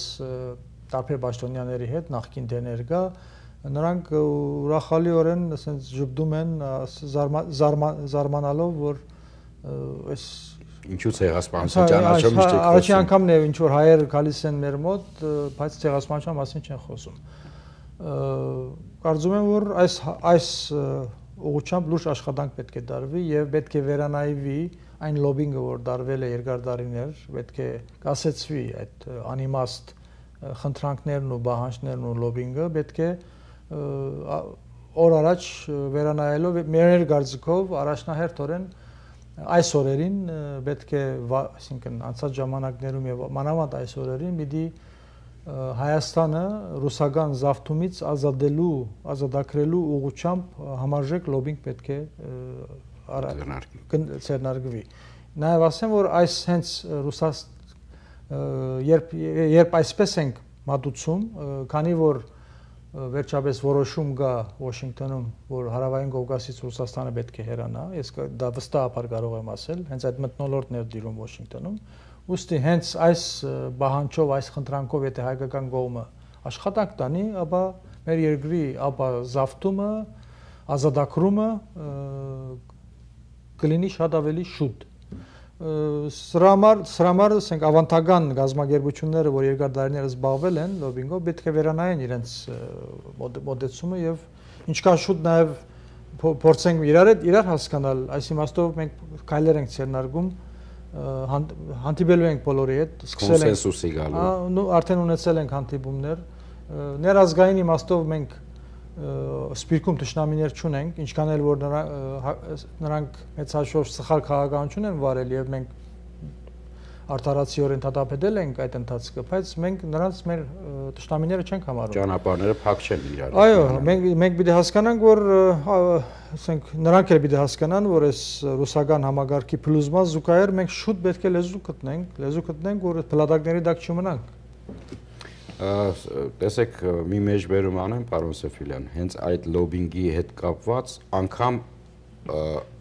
տարբեր պաշտոնյաների հետ, նախկին թե ներկա, նրանք ուրախալիորեն ասենց ժպտում են զարմանալով, որ այս ինչու ցեղասպանության ճանաչում չեք խոսում։ Առաջին անգամն է ինչ որ հայեր գալիս են մեր մոտ, բայց ցեղասպանության մասին չեն խոսում։ Կարծում եմ, որ այս ուղղությամբ լուրջ աշխատանք պետք է դարվի եւ պետք է վերանայվի այն լոբինգը, որ դարվել է երկար տարիներ, պետք է կասեցվի այդ անիմաստ խնդրանքներն ու բանջարներն ու լոբինգը, պետք է օր առաջ վերանայելով մեր կարծիքով առաջնահերթորեն այս օրերին պետք է, այսինքն անցած ժամանակներում եւ մանավանդ այս օրերին պիտի Հայաստանը ռուսական զավթումից ազատագրելու ուղղությամբ համարժեք լոբինգ պետք է ձեռնարկվի։ Նաև ասեմ, որ այս հենց երբ այսպես ենք մատուցում, քանի որ վերջապես որոշում կա Վաշինգտոնում, որ Հարավային Կովկասից Ռուսաստանը պետք է հեռանա, ես դա վստահաբար կարող եմ ասել, հենց այդ մթնոլորտն էր դիրում Վաշինգտոնում, ուստի հենց այս բանջով, այս խնդրանքով, եթե հայկական կողմը աշխատանք տանի, ապա մեր երկրի զավթումը, ազատագրումը կլինի շատ ավելի շուտ։ Սրա համար ասենք ավանդական գազམ་ագերբությունները, որ երկար տարիներ զբաղվել են լոբինգով, պետք է վերանայեն իրենց մոտեցումը եւ ինչքան շուտ նաեւ փորձենք իրար հասկանալ, այս իմաստով մենք քայլեր ենք ցերնարգում, հանդիպելու ենք բոլորի հետ, սկսել ենք կոնսենսուսի գալու։ Արդեն ունեցել ենք հանդիպումներ, ներազգային իմաստով մենք սպիրկում թշնամիներ չունենք, ինչքան էլ որ նրանք մեծ հաշվով սխալ քաղաքականություն են վարել եւ մենք արդարացիորեն դատապետել ենք այդ ընթացքը, բայց մենք նրանց մեր թշնամիները չենք համարում։ Ճանապարհները փակ չեն իրար։ Այո, մենք պիտի հասկանանք, որ ասենք նրանք էլ պիտի հասկանան, որ այս ռուսական համագարկի փլուզման զուգահեռ մենք շուտ պետք է լեզու գտնենք, որ փլատակների տակ չմնանք։ Տեսեք, մի մեջբերում անեմ, պարոն Սեֆիլյան, հենց այդ լոբինգի հետ կապված անգամ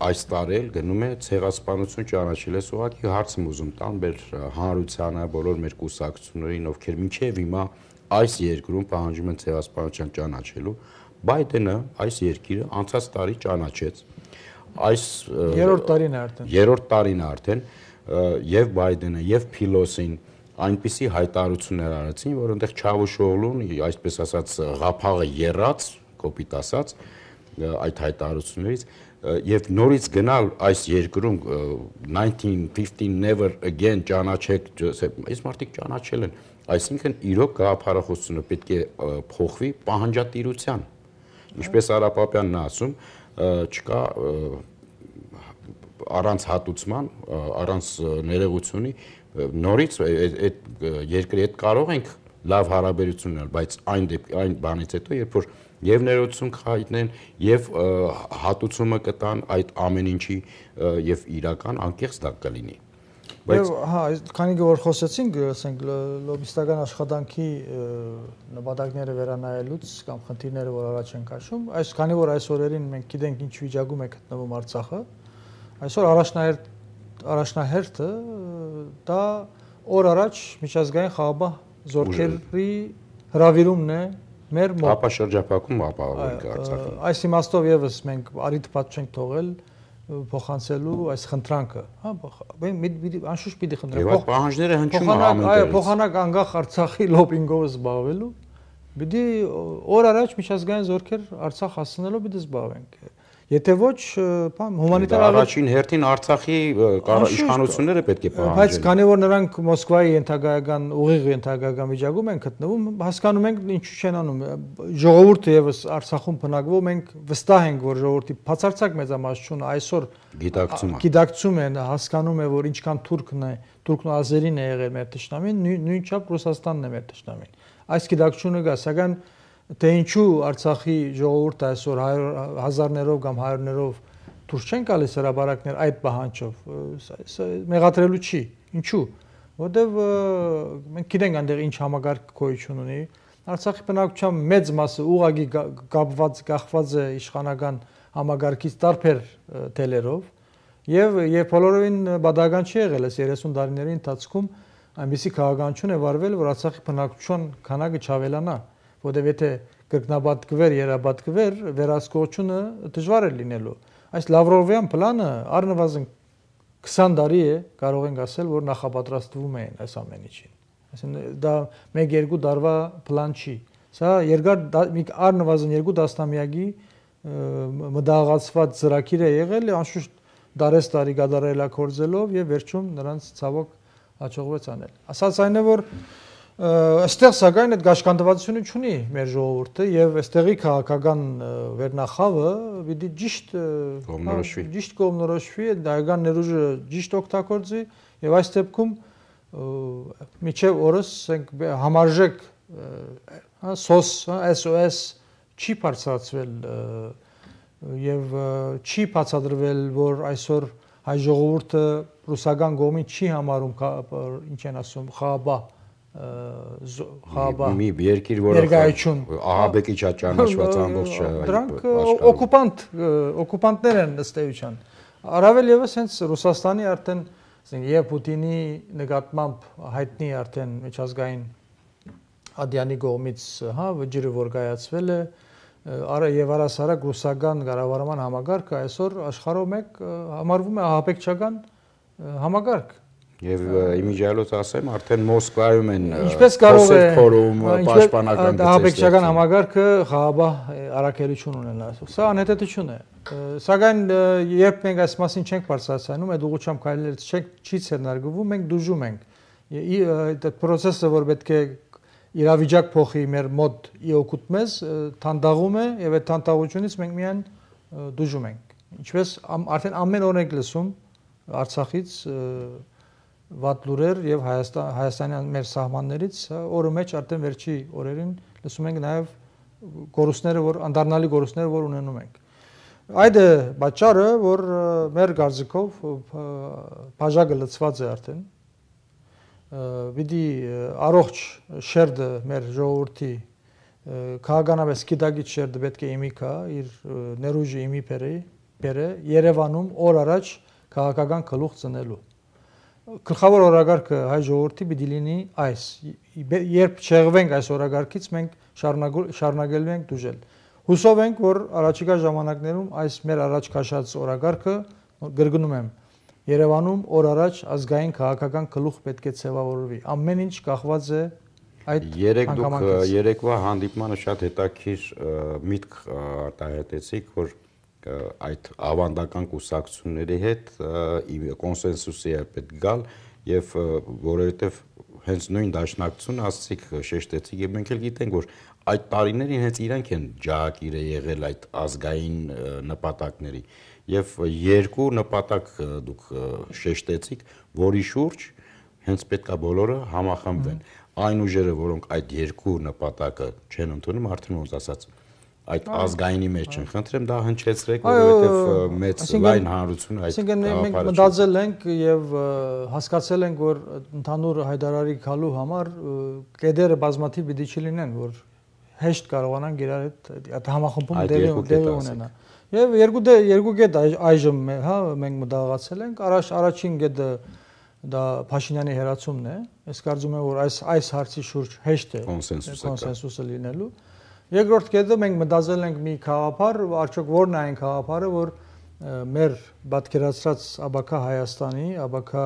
այս տարել գնում է ցեղասպանություն ճանաչել է, ուղղակի հարց եմ ուզում տալ մեր հանրությանը, բոլոր մեր կուսակցություններին, ովքեր մինչև հիմա այս երկրում պահանջում են ցեղասպանության ճանաչելու, Բայդենը այս երկիրը անցած տարի ճանաչեց։ Այս երրորդ տարին է արդեն, եւ Բայդենը եւ Փիլոսին այնպիսի հայտարարություններ արեցին, որ այնտեղ Չավուշօղլուն, այսպես ասած, ղափաղը եռած, կոպիտ ասած, այդ հայտարարություններից եւ նորից գնալ այս երկրում 1915 never again ճանաչեք, այս մարդիկ ճանաչել են, այսինքն իրոք գաղափարախոսությունը պետք է փոխվի պահանջատիրության, ինչպես Արա Պապյանն է ասում, չկա առանց հատուցման, առանց ներողությունի նորից այդ երկրի հետ կարող ենք լավ հարաբերություն ունենալ, բայց այն բանից հետո, երբ որ եւ ներողություն կհայտնեն եւ հատուցումը կտան այդ ամեն ինչի եւ իրական անկեղծ դա կլինի։ Բայց հա, քանի որ խոսեցինք, ասենք լոբիստական աշխատանքի նպատակները վերանայելուց կամ խնդիրները, որ առաջ են քաշում, այս քանի որ այս օրերին մենք գիտենք ինչ վիճակում է գտնվում Արցախը, այսօր առաջնահերթը դա օր առաջ միջազգային խաղաղ զորքերի հրավիրումն է մեր մոտ։ Ապա շրջափակում ապահովենք Արցախին։ Այս իմաստով եւս մենք արիթ չենք թողել փոխանցելու այս խնդրանքը, հա, անշուշտ պիտի խնդրանք։ Եվ այդ պահանջները հնչում են ամենտեղից։ Այո, փոխանակ անկախ Արցախի լոբինգով զբաղվելու, պիտի օր առաջ միջազգային զորքեր Արցախ հասցնելով պիտի զբաղվենք։ Եթե ոչ, հումանիտար առաջին հերթին Արցախի իշխանությունները պետք է պահանջեն։ Բայց քանի որ նրանք Մոսկվայի ենթակայական ուղիղ ենթակայական վիճակում են գտնվում, հասկանում ենք ինչու չեն անում։ Ժողովուրդը եւս Արցախում բնակվող մենք վստահ ենք, որ ժողովրդի բացարձակ մեծամասնությունը այսօր գիտակցում են, հասկանում է, որ ինչքան թուրքն ու ազերին է եղել մեր ճշտամին, նույնչափ Ռուսաստանն է մեր ճշտամին։ Այս գիտակցությունը կա, սակայն թե ինչու Արցախի ժողովուրդը այսօր հազարներով կամ հայերներով դուրս չեն գալիս հրաբարակներ այդ պահանջով, մեղադրելու չի։ Ինչու։ որտեվ մենք գիտենք այնտեղ ինչ համագարկ գոյություն ունի։ Արցախի բնակչության մեծ մասը ուղղակի կախված է իշխանական համագարկից տարբեր թելերով եւ բոլորովին բադական չի եղել այս 30 տարիների ընթացքում այնպիսի քաղաքականություն է վարվել, որ Արցախի բնակչության քանակը չավելանա, որտեվ եթե կրկնաբատկվեր, երաբատկվեր, վերահսկողությունը դժվար է լինելու։ Այս Լավրովյան պլանը առնվազն 20 տարի է, կարող ենք ասել, որ նախապատրաստվում են այս ամեն ինչին։ Այսինքն դա 1-2 տարվա պլան չի։ Սա առնվազն 2 տասնամյակի մտահղացված ծրագիր է եղել, անշուշտ դարես-տարի գդարելակորձելով եւ վերջում նրանց ցավոք հաջողվեց անել։ Ասած այն է, որ այստեղ սակայն այդ գաշկանդվածությունը չունի մեր ժողովուրդը եւ այստեղի քաղաքական վերնախավը պիտի ճիշտ կողմնորոշվի, դայական ներուժը ճիշտ օգտագործի եւ այս դեպքում միջև օրս համարժեք SOS չի բարձրացվել եւ չի բացատրվել, որ այսօր հայ ժողովուրդը ռուսական կողմին չի համարում ինչ են ասում խաբա մի երկիր, որը ահաբեկիչ ճանաչված ամբողջ դրանք օկուպանտներ են ըստ էության։ Առավել եւս հենց Ռուսաստանի արդեն եւ Պուտինի նկատմամբ հայտնի արդեն միջազգային ադյանի կողմից վճիռը որ կայացվել է եւ առասարակ ռուսական կառավարման համագարկը այսօր աշխարհում մեկ համարվում է ահաբեկչական համագարկ։ Եվ իմիջիալոց ասեմ, արդեն Մոսկվայում են ինչպես կարող է փորում պաշտպանական ահաբեկչական համագարկը Ղարաբաղ առաքելություն ունենա։ Սա անհետեթություն է։ Սակայն երբ մենք այս մասին չենք բարձրացնում, այդ ուղղությամբ քայլերից չի ցերնարգվում, մենք դժում ենք։ Այդ process-ը, որ պետք է իրավիճակ փոխի մեր մոտ իօկուտ մեզ, թանդաղում է եւ այդ թանդաղությունից մենք միայն դժում ենք։ Ինչպես արդեն ամեն օր ենք լսում Արցախից վատ լուրեր եւ Հայաստանյան մեր սահմաններից օրը մեջ արդեն վերջի օրերին լսում ենք նաեւ գորուսները, որ անդառնալի գորուսները, որ ունենում ենք։ Այդ է պատճառը, որ մեր գարձիկով բաժակը լցված է արդեն։ Պիտի առողջ շերտը մեր ժողովրդի քաղաքանապես գիտակից շերտը պետք է իմի կա, իր ներուժը իմի բերե Երևանում օր առաջ քաղաքական գլուխ ծնելու։ Գլխավոր օրակարգը հայ ժողովրդի պիտի լինի այս։ Երբ չեղվենք այս օրակարգից, մենք շարունակելու ենք դժել։ Հուսով ենք, որ առաջիկա ժամանակներում այս մեր առաջ քաշած օրակարգը գրգնում եմ Երևանում օր առաջ ազգային քաղաքական գլուխ պետք է ձևավորվի։ Ամեն ինչ կախված է այդ հանգամանքից։ Երեկվա հանդիպմանը շատ հետաքրքիր միտք արտահայտեցիք, որ այդ ավանդական կուսակցությունների հետ կոնսենսուսի է պետք գալ եւ որովհետեւ հենց նույն դաշնակցությունը ասացիք շեշտեցիք եւ մենք էլ գիտենք, որ այդ տարիներին հենց իրանք են ջահակիրը եղել այդ ազգային նպատակների եւ երկու նպատակ դուք շեշտեցիք, որի շուրջ հենց պետքա բոլորը համախմբվեն։ Այն ուժերը, որոնք այդ երկու նպատակը չեն ընդունում, արդեն ոնց ասած այդ ազգայինի մեջ են։ Խնդրեմ դա հնչեցրեք, որովհետեւ մեծ լայն հանրությունը այդ այսինքն մենք մտածել ենք եւ հասկացել ենք, որ ընդհանուր հայտարարի գալու համար կեդերը բազմաթիվ պիտի չլինեն, որ հեշտ կարողանանք իրար այդ համախմբում դեր ունենա։ Եվ երկու կետ այժմ մենք մտահղացել ենք, առաջին կետը դա Փաշինյանի հերացումն է, ես կարծում եմ, որ այս հարցի շուրջ հեշտ է կոնսենսուսը լինելու։ Երկրորդ կետը մենք մտածել ենք մի գաղափար, արդյոք որն է այն գաղափարը, որ մեր պատկերացրած ԱԲԿ Հայաստանի, ԱԲԿ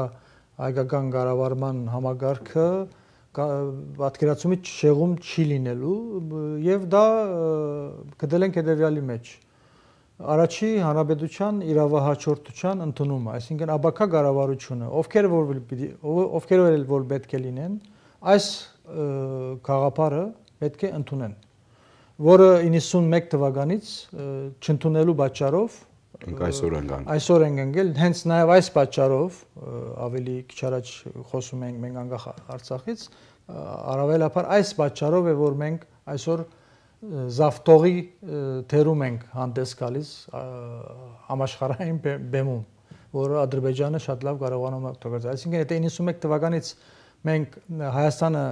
հայկական կառավարման համագարքը պատկերացումից շեղում չի լինելու եւ դա գտել ենք հետեւյալի մեջ։ Առաջի հանրապետության իրավահաջորդության ընդունումը, այսինքն ԱԲԿ կառավարությունը, ովքեր որ պետք է լինեն, այս գաղափարը պետք է ընդունեն, որը 91 թվականից չընդունելու պատճառով այսօր ենք ընկել, հենց նաև այս պատճառով ավելի քիչ առաջ խոսում ենք մենք անկախ Արցախից, առավելաբար այս պատճառով է, որ մենք այսօր զավթողի թերում ենք հանդես գալիս համաշխարհային բեմում, որը Ադրբեջանը շատ լավ կարողանում է օգտագործել։ Այսինքն եթե 91 թվականից մենք Հայաստանը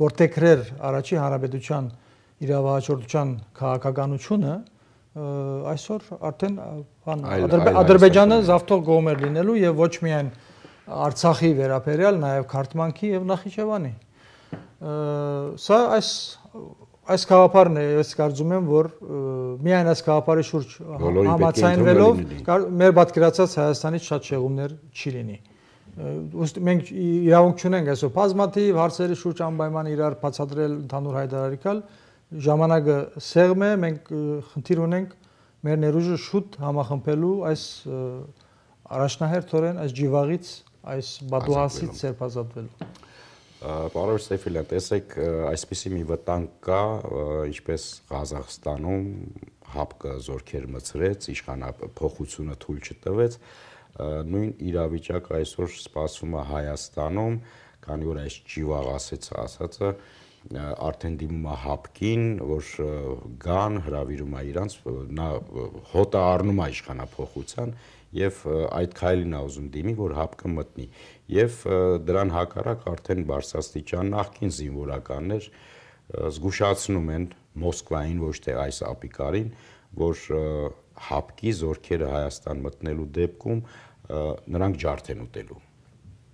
որտեղեր առաջի հանրապետության իրավահաջորդության քաղաքականությունը այսօր արդեն Ադրբեջանը զավթող կողմ էր լինելու եւ ոչ միայն Արցախի վերաբերյալ, նաեւ Քարթմանքի եւ Նախիջևանի։ Սա այս գաղափարն է, ես կարծում եմ, որ միայն այս գաղափարի շուրջ համաձայնվելով մեր պատկերացած Հայաստանից շատ շեղումներ չի լինի։ Մենք իրավունք չունենք այսօր բազմաթիվ հարցերի շուրջ անպայման իրար բացատրել, ընդհանուր հայտարարել, ժամանակը սեղմ է, մենք խնդիր ունենք մեր ներուժը շուտ համախմբելու այս առաջնահերթորեն այս ջիվաղից, այս բադուհասից սերբազատվելու։ Պարոն Սեյֆիլյան, տեսեք, այսպիսի մի վտանգ կա, ինչպես Ղազախստանում ՀԱՊԿ զորքեր մցրեց, իշխանափոխությունը թույլ չտվեց, նույն իրավիճակը այսօր սպասվում է Հայաստանում, քանի որ այս ջիվաղ ասածը արդեն դիմում է ՀԱՊԿ-ին, որ գան, հրավիրում է իրանց, նա հոտը առնում է իշխանափոխության եւ այդ քայլին է ուզում դիմի, որ ՀԱՊԿ-ը մտնի։ Եվ դրան հակառակ արդեն բարձրաստիճան նախկին զինվորականներ զգուշացնում են Մոսկվային, ոչ թե այս ապիկարին, որ ՀԱՊԿ-ի զորքերը Հայաստան մտնելու դեպքում նրանք ջարդ են ուտելու։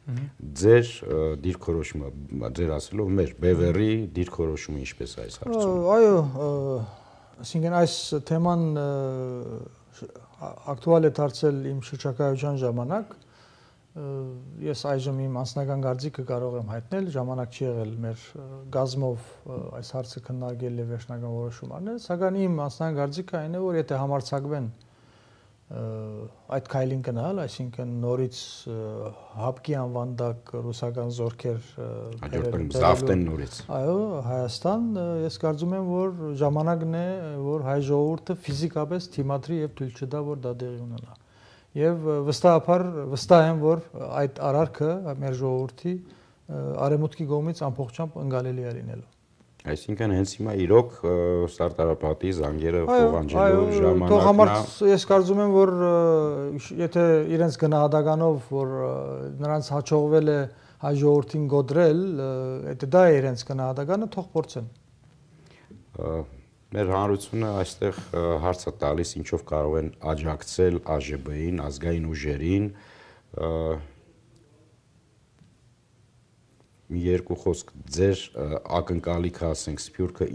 Ձեր դիրքորոշումը, ձեր ասելով, մեր Բևերի դիրքորոշումը ինչպես է այս հարցում։ Այո, այսինքն այս թեման ակտուալ է դարձել իմ շրջակայության ժամանակ։ Ես այժմ իմ անձնական կարծիքը կարող եմ հայտնել, ժամանակ չի եղել մեր գազմով այս հարցը քննարկել եւ վերջնական որոշում առնել, սակայն իմ անձնական կարծիքը այն է, որ եթե համարձակվեն այդ քայլին գնալ, այսինքն նորից ՀԱՊԿ-ի անվան տակ ռուսական զորքեր զավթեն նորից։ Այո, Հայաստան, ես կարծում եմ, որ ժամանակն է, որ հայ ժողովուրդը ֆիզիկապես թիմադրի եւ թույլ չտա, որ դա տեղի ունենա։ Եվ վստահ եմ, որ այդ արարքը մեր ժողովրդի արևմուտքի կողմից ամբողջությամբ ընկալելի է լինելու։ Այսինքն հենց հիմա իրոք ստարտարապատի զանգերը փոխանցելու ժամանակն է։ Ես կարծում եմ, որ եթե իրենց գնահատականով, որ նրանց հաջողվել է հայ ժողովրդին գոդրել, եթե դա է իրենց գնահատականը, թող փորձեն։ Մեր հանրությունը այստեղ հարց է տալիս, ինչով կարող են աջակցել ԱԺԲ-ին, ազգային ուժերին։ Մի երկու խոսք ձեր ակնկալիքը, ասենք, Սփյուռքը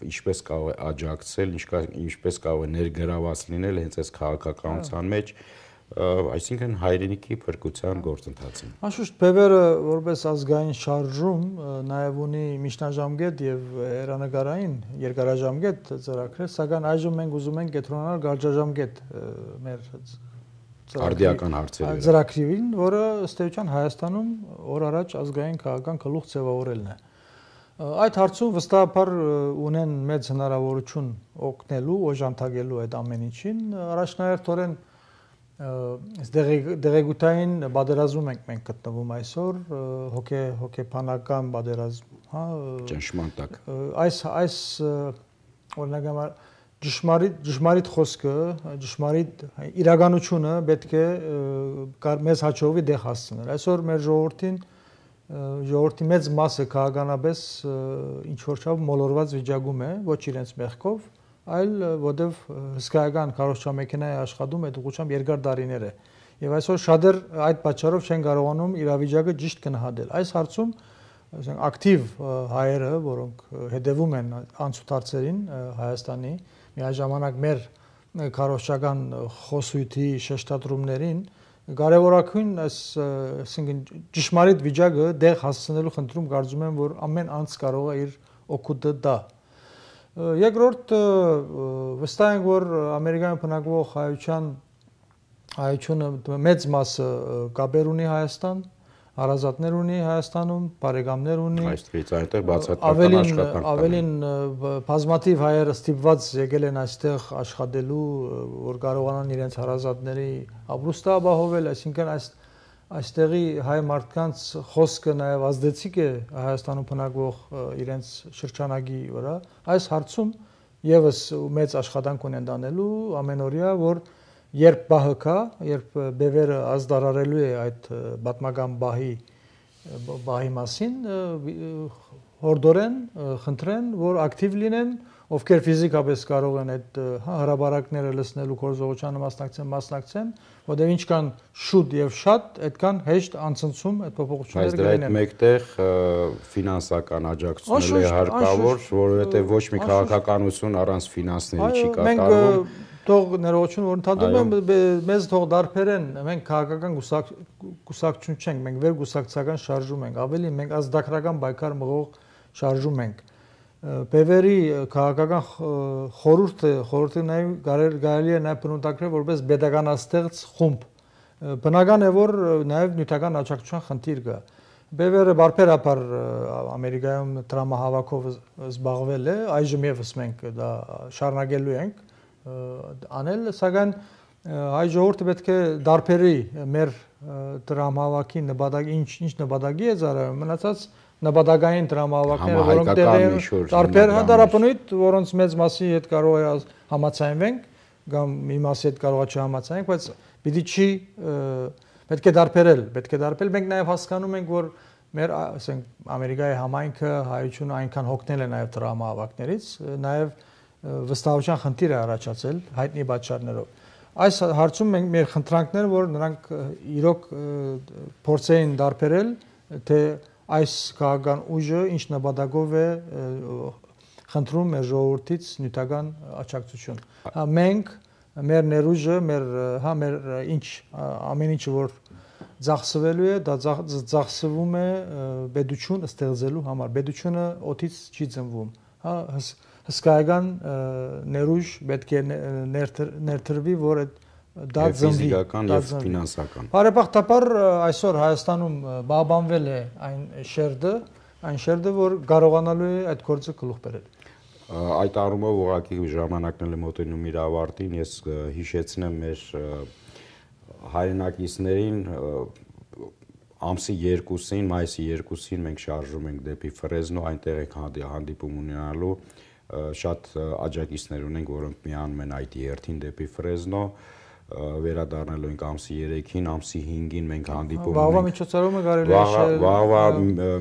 ինչպես կարող է աջակցել, ինչպես կարող է ներգրաված լինել հենց այս քաղաքականության մեջ, այսինքն հայրենիքի փրկության գործընթացին։ Անշուշտ Բևերը որպես ազգային շարժում նաև ունի միջնաժամկետ եւ հեռանկարային երկարաժամկետ ծրագրեր, սակայն այժմ մենք ուզում ենք կենտրոնանալ կարճաժամկետ մեր արդիական հարցերի ծրագրին, որը ըստ էության Հայաստանում օր առաջ ազգային քաղաքական գլուխ ձևավորելն է։ Այդ հարցում վստահաբար ունեն մեծ հնարավորություն օգնելու, օժանդակելու այդ ամեն ինչին, առաջնահերթորեն դեղեկութային պատերազմում ենք մենք գտնվում այսօր, հոգեբանական պատերազմ, հա, ճնշման տակ։ Այս օրինակ համար ճշմարիտ խոսքը, ճշմարիտ իրականությունը պետք է մեզ հաջողվի դեղ հասցնել։ Այսօր մեր ժողովրդի մեծ մասը քաղաքականապես ինչ որ չափ մոլորված վիճակում է, ոչ իրենց մեղքով, այլ որտեվ հսկայական քարոզչամեքենա է աշխատում այդ ուղղությամբ երկար տարիներ է։ Եվ այսօր շատեր այդ պատճառով չեն կարողանում իրավիճակը ճիշտ գնահատել։ Այս հարցում ակտիվ հայերը, որոնք հետևում են անցուդարձերին Հայաստանի, միաժամանակ մեր քարոզչական խոսույթի շեշտադրումներին, կարևորագույն այսինքն ճշմարիտ վիճակը դեղ հասցնելու խնդրում կարծում եմ, որ ամեն անձ կարող է իր օգուտը տա։ Երկրորդ վստահ ենք, որ Ամերիկայում բնակվող հայությունը մեծ մասը կապեր ունի Հայաստան, հարազատներ ունի Հայաստանում, բարեկամներ ունի։ Այստեղից այնտեղ բացատրական աշխատանք։ Ավելին բազմաթիվ հայեր ստիպված եկել են այստեղ աշխատելու, որ կարողանան իրենց հարազատների ապրուստը ապահովել, այսինքն այստեղի հայ մարդկանց խոսքը նաև ազդեցիկ է Հայաստանում բնակվող իրենց շրջանակի վրա։ Այս հարցում եւս մեծ աշխատանք ունեն տանելու ամենօրյա, որ երբ բահը կա, երբ Բևերը ազդարարելու է այդ պատմական բահի բահի մասին հորդորեն, խնդրեն, որ ակտիվ լինեն, ովքեր ֆիզիկապես կարող են այդ հրաբարակները լսնելու գործողությանը մասնակցեն, որտեղ ինչքան շուտ եւ շատ, այդքան հեշտ անցնցում այդ փոփոխությունները կլինեն։ Բայց դրա հետ մեկտեղ ֆինանսական աջակցությունն է հարկավոր, որովհետեւ ոչ մի քաղաքականություն առանց ֆինանսների չի կատարվում։ Թող ներողություն որ ընդհանրում եմ մեզ թող դարբերեն մենք քաղաքական կուսակցություն չենք մենք վեր կուսակցական շարժում ենք ավելի մենք ազդակրական բայկար մղող շարժում ենք Բևերի քաղաքական խորհուրդը նաև կարելի է նաև բնութագրել որպես pedagoganastեղծ խումբ բնական է որ նաև նյութական աջակցության խնդիր կա Բևերը բարբերաբար Ամերիկայում տրամահավաքով զբաղվել է այժմ եւս մենք դա շարունակելու ենք անել, սակայն հայ ժողովուրդը պետք է դարբերի մեր տրամահավաքի նպատակի ինչ նպատակի է ծառայում, մնացած նպատակային տրամահավաքները, որոնք տեղի են տարբեր հանդարապնույթ, որոնց մեծ մասի հետ կարող է համաձայնվենք, կամ մի մասի հետ կարող է չհամաձայնենք, բայց պիտի չի պետք է դարբերել, մենք նաև հասկանում ենք, որ մեր, ասենք, Ամերիկայի համայնքը հայությունը այնքան հոգնել է նաև տրամահավաքներից, նաև վստահության խնդիր է առաջացել հայտնի պատճառներով։ Այս հարցում մենք մեր խնդրանքները, որ նրանք իրոք փորձեին դարբերել, թե այս քաղաքական ուժը ինչ նպատակով է խնդրում մեր ժողովրդից նյութական աջակցություն։ Մենք մեր ներուժը, մեր ինչ ամեն ինչը որ ծախսվելու է, դա ծախսվում է պետություն ստեղծելու համար։ Պետությունը օդից չի ծնվում, հսկայական ներուժ պետք է ներդրվի, որ դա ծնվի ֆիզիկական եւ ֆինանսական։ Բարեբախտաբար այսօր Հայաստանում բաբանվել է այն շերտը, որ կարողանալու է այդ գործը գլուխ բերել։ Այդ առումով ուղղակի ժամանակն է մոտենում իր ավարտին, ես հիշեցնեմ մեր հայրենակիցներին ամսի 2-ին, մայիսի 2-ին մենք շարժում ենք դեպի Ֆրեզնո, այնտեղ ենք հանդիպում ունենալու շատ աջակիցներ ունենք, որոնք միանում են այդ երթին դեպի Ֆրեզնո, վերադառնալու ենք ամսի 3-ին, ամսի 5-ին մենք հանդիպում ենք։ Վաղվա միջոցառումը կարելի է շել։ Վաղվա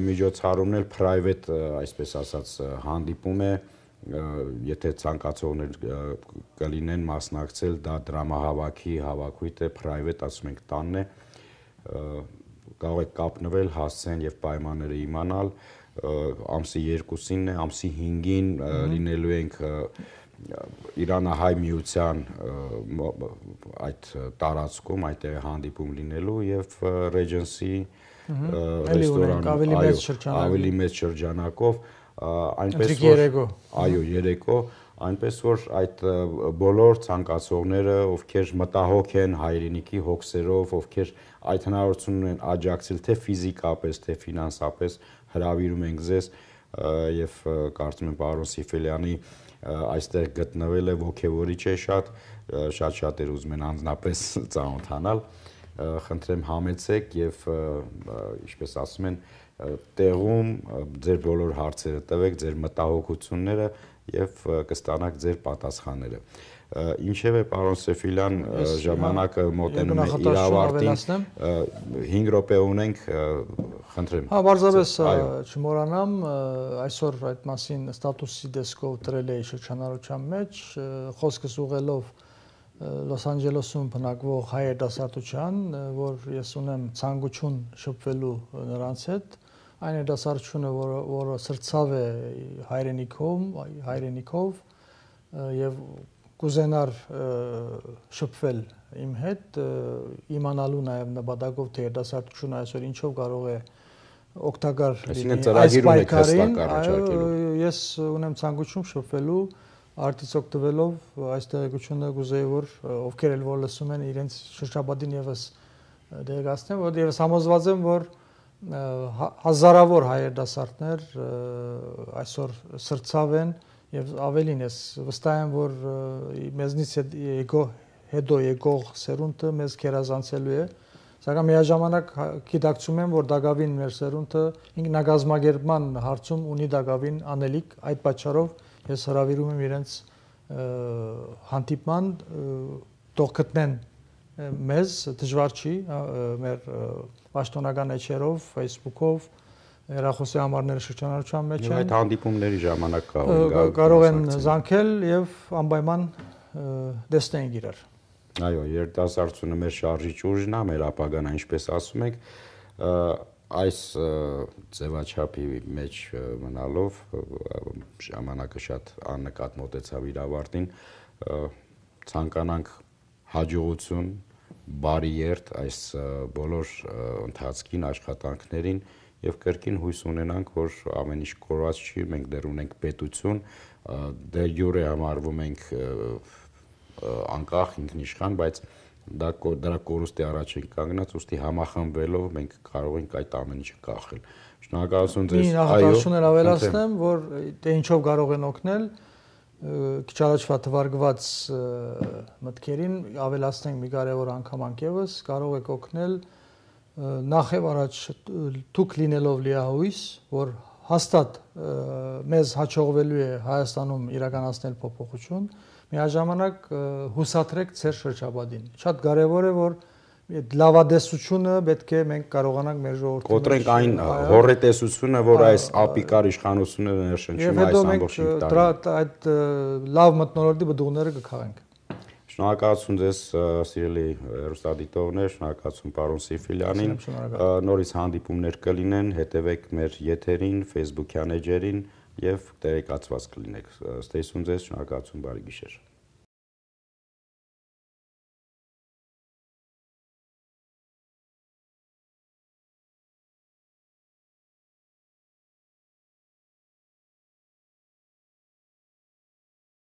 միջոցառումն էլ private, այսպես ասած, հանդիպում է, եթե ցանկացողներ կլինեն մասնակցել, դա դրամահավաքի հավաքույթ է, private, ասում ենք, տանն է, կարող եք կապնվել, հասցեն եւ պայմանները իմանալ, ամսի 2-ին է, ամսի 5-ին լինելու ենք Իրանահայ միության այդ տարածքում, այդտեղ հանդիպում լինելու եւ Regency ռեստորանում ավելի մեծ շրջանակով այնպես որ այո երեկո այնպես որ այդ բոլոր ցանկացողները ովքեր մտահոգ են հայրենիքի հոգսերով ովքեր այդ հնարավորությունն են աջակցել թե ֆիզիկապես թե ֆինանսապես հրավիրում ենք ձեզ եւ կարծում եմ պարոն Սիֆելյանի այստեղ գտնվելը ոգևորիչ է շատ շատեր ուզում են անձնապես ծանոթանալ խնդրեմ համեցեք եւ ինչպես ասում են տեղում ձեր բոլոր հարցերը տվեք ձեր մտահոգությունները եւ կստանաք ձեր պատասխանները ինչեւէ պարոն Սեֆիլյան ժամանակը մոտենում է իր ավարտին 5 րոպե ունենք խնդրեմ հա բարձրապես չմոռանամ այսօր այդ մասին ստատուսի դեսկով դրել էի շրջանառության մեջ խոսքս ուղղելով Լոս Անջելեսում բնակվող հայ երիտասարդության, որ ես ունեմ ցանկություն շփվելու նրանց հետ, այն երիտասարդությունը, որը սրծավ է հայրենիքով եւ կուզենար շփվել իմ հետ, իմանալու նաեւ նպատակով թե երիտասարդությունը այսօր ինչով կարող է օգտակար լինի այս պայքարին, ես ունեմ ցանկություն շփվելու Արտից օգտվելով այս տեղեկությունը գուզեի որ ովքեր էլ որ լսում են իրենց շրջապատին եւս դերակացնեն որ եւս համոզված եմ որ հազարավոր հայ երիտասարդներ այսօր սրծավ են եւ ավելին ես վստահ եմ որ մեզնից հետո եկող սերունդը մեզ քերազանցելու է սակայն միաժամանակ գիտակցում եմ որ դակավին մեր սերունդը ինքնագազմագերբման հարցում ունի դակավին անելիք այդ պատճառով ես հրավիրում եմ իրենց հանդիպման թող գտնեն մեզ դժվար չի մեր պաշտոնական էջերով, Facebook-ով հեռախոսի համարները շրջանառության մեջ են։ Այդ հանդիպումների ժամանակ կարող են զանգել եւ անպայման տեսնենք իրար։ Այո, երիտասարդությունը մեր շարժիչ ուժն է, մեր ապագան, ինչպես ասում ենք, այս ձևաչափի մեջ մնալով ժամանակը շատ աննկատ մոտեցավ իր ավարտին, ցանկանանք հաջողություն, բարի երթ այս բոլոր ընթացքին, աշխատանքներին եւ կրկին հույս ունենանք, որ ամեն ինչ կորած չի, մենք դեռ ունենք պետություն, դե յուրե համարվում ենք անկախ ինքնիշխան, բայց դրա կորուստի առաջ ենք կանգնած, ուստի համախմբվելով մենք կարող ենք այդ ամեն ինչը կախել։ Շնորհակալություն ձեզ։ Այո, ավելացնեմ, որ դե ինչով կարող են օգնել, քիչ առաջվա թվարկված մտքերին ավելացնենք մի կարևոր անգամ ևս, կարող եք օգնել նախ եւ առաջ դուք լինելով լիահույս, որ հաստատ մեզ հաջողվելու է Հայաստանում իրականացնել փոփոխություն, միաժամանակ հուսադրեք ձեր շրջապատին։ Շատ կարևոր է, որ լավադեսությունը պետք է մենք կարողանանք մեր ժողովրդին կոտրենք այն հոռետեսությունը, որ այս ապիկար իշխանությունները ներշնչում այս ամբողջ տարի։ Այդ լավ մթնոլորտի բդուղները կքաղենք։ Շնորհակալություն ձեզ սիրելի հեռուստադիտողներ, շնորհակալություն պարոն Սիֆիլյանին։ Նորից հանդիպումներ կլինեն, հետևեք մեր եթերին, Facebook-յան էջերին եւ տեղեկացված կլինեք։ Ստեսուն ձեզ, շնորհակալություն, բարի գիշեր։